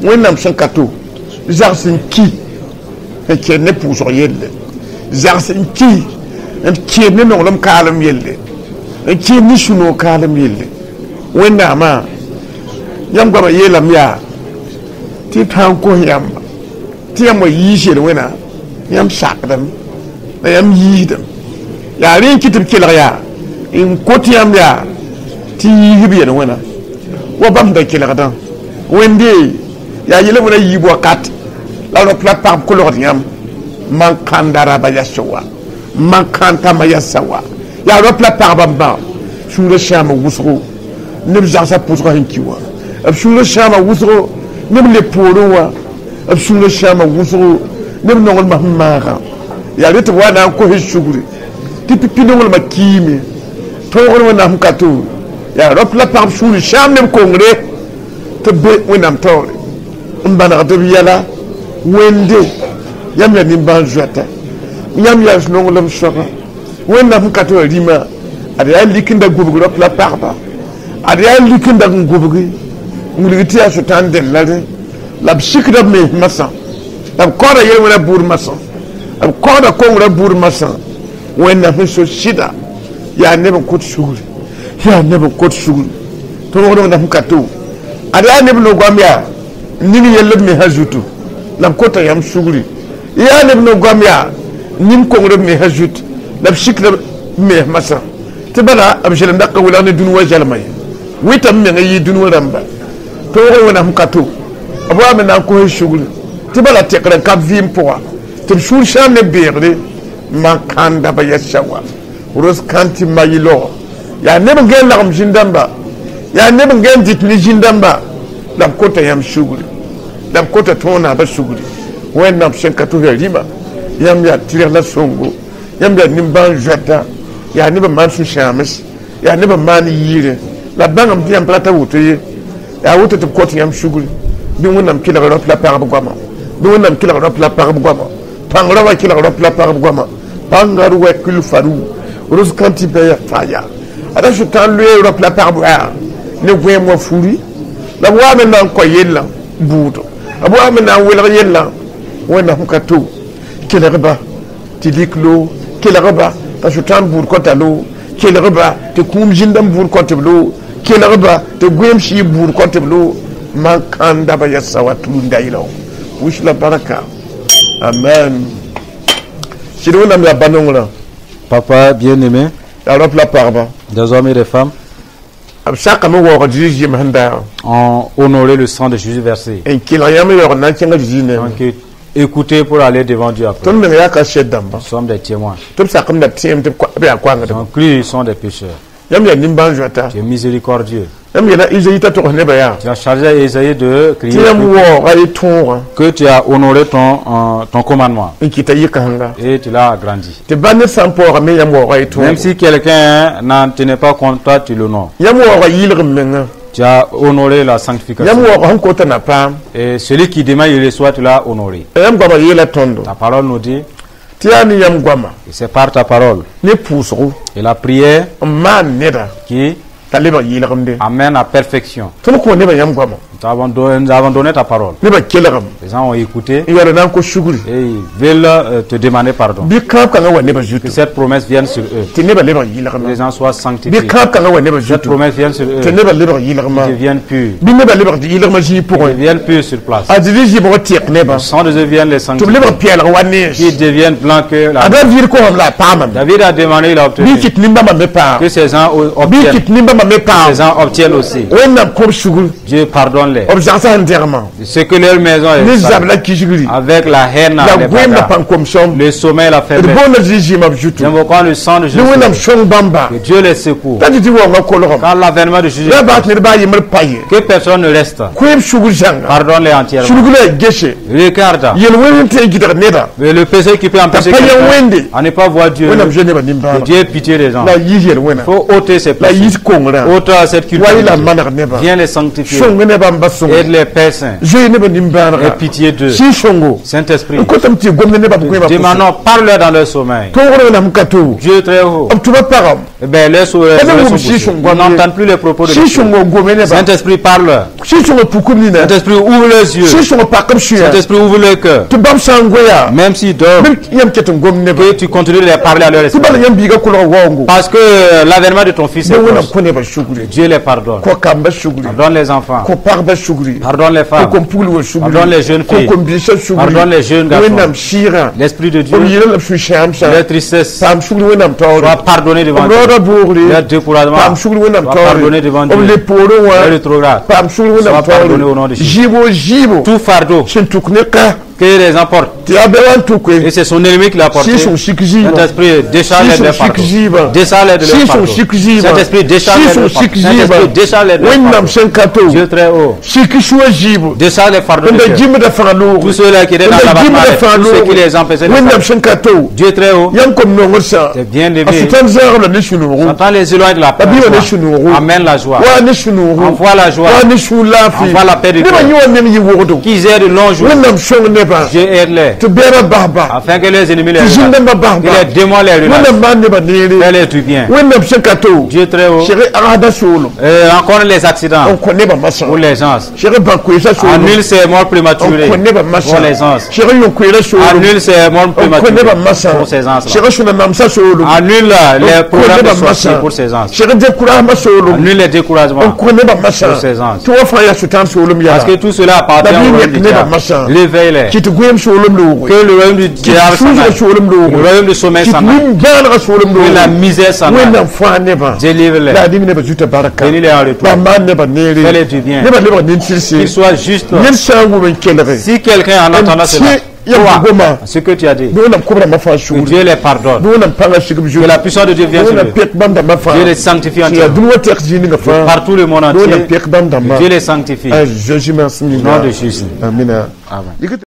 Wẽnnaam sẽn ka to zags n ki n kẽed ne pʋʋsg yelle zags n ki n kẽed ne nonglem kaalem yelle n kẽed ne sũ-noog kaalem yelle Wẽnnaamã yãmb goamã yeelame yaa tɩ b tãag n kos yãmba tɩ yãmb wa yiis yel-wẽna yãmb sakdame la yãmb yiisdame yaa rẽ n kɩ tɩ b kelg yaa n kot yãmb yaa tɩ yiis b yel-wẽna wa bãmb da kelgdã Wẽnde yaa yel wẽna yiib wakat la rap la pagb kolgd yãmb man kãnda raba yasa wa man kãntama yasa wa yaa rap la pagbã bã sũurã sãama wʋsgo neb zagsã pʋsgã sẽn ki wã b sũurã sãama wʋsgo neb le poorẽ wã b sũurã sãama wʋsgo neb nonglmã sẽn maagã yaa rẽ tɩ b wa na n kos sugri tɩ pipi nonglmã kiime tõogr Wẽnnaam sẽn ka to yaa rap la pagb sũuri sãam neb kongre tɩ b be Wẽnnaam taoore n bãnegd b yɛla Wẽnde yãmb yaa nimbãan-zoɛta yãmb yaa nonglem soaba Wẽnnaam sẽn ka tɩ wã rĩmã ad yaa lik n da gubg rap la pagba ad yaa lik n dag n gubgi n wilg tɩ yaa sʋtãan dẽnd la rẽ la b sikda b mens masã la b kaooda yel-wẽna buud masã b kaooda kongrã buud masã Wẽnnaam sẽn so sɩda yaa neb n kõt sugri yaa neb n kõt sugri tõogd Wẽnnaam sẽn ka to ad yaa neb no-goam yaa ning yell b mesã zutu la b kota yãmb sugri yaa neb no-goam yaa ning kongr b mesã zut la b sikda b mes masã tɩ bala b zelemda ka welg ne dũni wa zɛlma ye wɩtame menga yɩ dũni wã rãmba tõog Wẽnnaam sẽn ka to b wa me na n kos sugri tɩ Tɩ bala tekr n ka vɩɩm pʋga tɩ b sũur sãam ne beegre man kãnda ba yɛsa wa ros kãn tɩ ma yɩ-logo yaa neb n gẽn lagem zĩn-dãmba yaa neb n gẽn dɩt ne zĩn-dãmba la b kota yãmb sugri la b kota tõog naabã sugri wẽnnaam sẽn ka tʋs yaa rĩma yãmb yaa tɩrg la sõngo yãmb yaa nimbãan-zoɛta yaa neb n maan sũ-sãams yaa neb n maan yiire la bãngame tɩ yãmb pa rata woto ye yaa woto tɩ b kot yãmb sugri bɩ wẽnnaam kelg rap la pagb goama bɩ wẽnnaam kelg rap la pagb goama pãng raoã kelg rap la pagb goama pãnga rʋ kul faru ros kãn tɩ bɩ ya faya ada sʋtãan loe rap la pagb wɛa ne gõeem wã furi la b waame na n kõ yellã buudo b waame na n welg yellã wẽnnaam ka to kelgba tɩ lik loo kelgba t'a sʋtãan buud kõta loo kelgba tɩ kũum zĩndãmb buud kõt b loo kelgba tɩ gõeem sɩɩb buud kõt b loo man kãnda ba yɛsa wa tũunda yɩla wis la baraka amen sɩd wẽnnaam yaa ba-nongrã Papa bien-aimé, yaa rap la pagba des hommes et des femmes, b sakame waoog Zeezi zɩɩm sẽn daagã ont honoré le sang de Jésus versé. n kelg yãmb yaoog n na n kẽnga Zeezi nengẽ Donc, écoutez pour aller devant Dieu après. Tõnd meng yaa kaset dãmba Nous sommes des témoins. Tɩ b sakame la b tẽem tɩ b yaa koangdba Donc, ils sont des pécheurs. Yãmb yaa nimbãan-zoata Tu es miséricordieux. Yãmb yeela Izayi t'a togs nebã yaa Tu as chargé Esaïe de tɩ crier yãmb waooga y tõogã que tu as honoré ton, euh, ton commandement n kɩta yɩ-kãsenga et tu l'as agrandi. Tɩ ba ned sã n paooga me yãmb waooga y Même tõogo si quelqu'un n'en tenait pas compte, toi tu l'honores. Yãmb waooga yɩlgem menga Tu as honoré la sanctification. Yãmb waooga sẽn kota na paam Et celui qui demande, il reçoit, tu l'as honoré. Yãmb goamã yeela tõndo Ta parole nous dit, tɩ yaa ne yãmb goama et c'est par ta parole ne pʋʋsgo et la prière n maan neda qui t'a lebg yɩlgemde amène à perfection. Tõnd kõ nebã yãmb goama Nous avons donné, nous avons donné ta parole. Nebã kelgem Les gens ont écouté n yaool na n kos sugri et ils veulent euh, te demander pardon. Bɩ kãab kãngã wa nebã Que zutu cette promesse vienne sur eux. Tɩ nebã lebg Que yɩlgma les gens soient sanctifiés. Bɩ kãab kãngã wa nebã Cette zutu promesse vienne sur eux. Tɩ nebã lebg yɩlgma Qu'ils deviennent purs. Bɩ nebã lebg yɩlgmã zĩig pʋgẽ Qu'ils deviennent purs sur place. A Zezi zɩbg tɩk nebã Le sang de Dieu vienne les tɩ b sanctifier. lebg pɛɛlg wa nees Qu'ils deviennent blancs que la A David kosam la a paamame David a demandé, il a obtenu. Bɩ kɩt nimbãmbã me paam Que ces gens bɩ obtiennent. kɩt nimbãmbã me paam Ces gens obtiennent aussi. Wẽnnaam kõb sugr Dieu pardonne-les. B zagsã sẽn dẽgmã Ce que leur maison ne est zab sale. La kisgri Avec la haine, la les goẽem la bagarres, pãn-komsem le sommeil, la d faiblesse. boonda Zeezi zɩɩmã b zutu J'invoquons le sang de ne Jésus. Wẽnnaam sõng bãmba Que Dieu les secoue. t'a tɩ tɩ waoongã kolgem Quand l'avènement de Jésus, la baas ned baa yembr pa ye que personne ne reste. Koeem sugr zãnga Pardonne-les entièrement. Sulg la a gese Regarde. Yel-wẽnd sẽn tõe n gɩdg neda Mais le péché qui peut empêcher pa yã quelqu'un wẽnde à ne pas voir Dieu. Wẽnnaam zoe nebã Que nimbãanega Dieu ait pitié des gens. La a yis yel-wẽna Il faut ôter ces la a péchés. yis kongrã Ôte cette wa y la culpabilité. maneg nebã Viens les sanctifier. Sõng nebã n ba sõngo Aide les pères saints. Zoe nebã nimbãanega Aie pitié d'eux. Sɩ sõngo Saint-Esprit. N kotame tɩ gomd nebã b goẽmã Demandons, parle-leur dans leur sommeil. Tõogr wẽnnaam ka to Dieu très haut. B tʋba pagam Eh bien, les Pas de sont vous, si son Ils gomme. n'entendent plus les propos de Sɩ l'Esprit. sõngo gome nebã Saint-Esprit, parle. Sɩ sõngo pukum nina Saint-Esprit, ouvre leurs yeux. Sɩ sõngo pakb sũyã Saint-Esprit, ouvre leur cœur. Tɩ bãmb sã n goeya Même s'ils dorment, bɩ yãmb ket n gom nebã que tu continues de les parler à leur tɩ esprit. bala yãmb biiga kolg waoongo Parce que euh, l'avènement de ton fils est bɩ Wẽnnaam proche. kõ nebã sugri Dieu les pardonne. kõ kamba sugri Pardonne les enfants. kõ pagba sugri Pardonne les kõ femmes. kom-pugl wa sugri Pardonne les jeunes kõ filles. kom-biisã sugri Pardonne les jeunes garçons. Wẽnnaam sɩɩgã L'Esprit de Dieu, b yeela la b sũ-sãamsã leur tristesse, paam sugri Wẽnnaam taoore soit pardonné devant b Dieu. raoodã boogre Leur découragement, paam sugri Wẽnnaam soit taoore pardonné devant b Dieu. le poorẽ wã Leur rétrograde, paam sugri Wẽnnaam soit pardonné au nom taoore de Jésus. zɩɩbo zɩɩbo Tout fardeau sẽn tuk ne ka que les emportent, tɩ yaa bɛ wa n tukue et c'est son ennemi qui l'a porté. Sɩ sõng sik zɩɩbã Saint-Esprit, décharge-les de leur fardeau. Décharge-les de leur Sɩ sõng fardeau. sik zɩɩbã Saint-Esprit, décharge-les Sɩ de sõng leur fardeau. sik Saint-Esprit, zɩɩbã décharge-les de leur Wẽnnaam fardeau. sẽn ka to Dieu très haut, sik sũa zɩɩbo décharge les fardeaux de n da cœur. gimda fãa loog Tous ceux-là qui étaient dans n da l'abattement, gimda fãa tous ceux qui loog les empêchaient de Wẽnnaam faire. sẽn ka to Dieu très haut, yãmb kom nongr sã c'est bien a levé. sʋtãn zãagb la ne sũ-noogo Entends les éloignes de la la bɩ wa ne joie. sũ-noogo Amène la joie. wa ne sũ-noogo Envoie la joie. wa ne sũur laafɩ Envoie la paix du nebã cœur. yẽ wa neng yɩ wogdo Qu'ils aient de longs jours. Wẽnnaam sõng nebã Dieu aide-les. Tɩ bɛɛbã basba Afin que les ennemis les tɩ relâchent. zĩn-dãmbã Que basba les démons les relâchent. Wẽnnaam maan nebã neere Fais-les du bien. Wẽnnaam sẽn ka to Dieu très haut. seg agsda soolem Euh, rencontre les accidents n kõ nebã masã pour les gens. Seg bãn-koeesã soolem Annule ces morts n prématurées kõ nebã masã pour les gens. Seg yõ-koeerã soolem Annule ces morts n kõ prématurées nebã masã pour ces gens. Seg sũ-na namsã soolem Annule les n kõ programmes nebã de sorciers masã pour ces gens. Seg découragement soolem Annule les n découragements. kõ nebã masã Pour ces gens. tɩ wa fãa yaa sʋtãan soolem Parce yaa que tout cela appartient La au Bible royaume du n'est pas diable. machin. Réveille-les. Kɩ tɩ goeem soolem looge. Que le royaume du diable s'en Sũurã aille. soolem Le looge. Royaume du sommeil Kɩ s'en aille. nin-bãanegã soolem Que la looge. misère s'en aille. Wẽnnaam fãa nebã. Délivre-les. La a ning nebã zuta barka. Bénis-les en retour. La maan nebã neere. Fais-les du bien. Nebã lebg nin-tɩrse. Qu'ils soient justes. Ned sã n wʋm n kelge. Si quelqu'un en entendant cela, Yãmb goma. ce que tu as dit, Bɩ Wẽnnaam kobrã fãa que sugr. Dieu les pardonne. Bɩ Wẽnnaam pãngã sig b Que la puissance de Dieu vienne sur Wẽnnaam eux. pek bãmb dãmbã fãa. Dieu les sanctifie Tɩ yaa entièrement. dũni wã tɛk zĩig ninga fãa. Partout le monde Bɩ Wẽnnaam entier, pek bãmb dãmbã. Dieu les sanctifie. A Jésus Au nom de Jésus. Amina. Amen.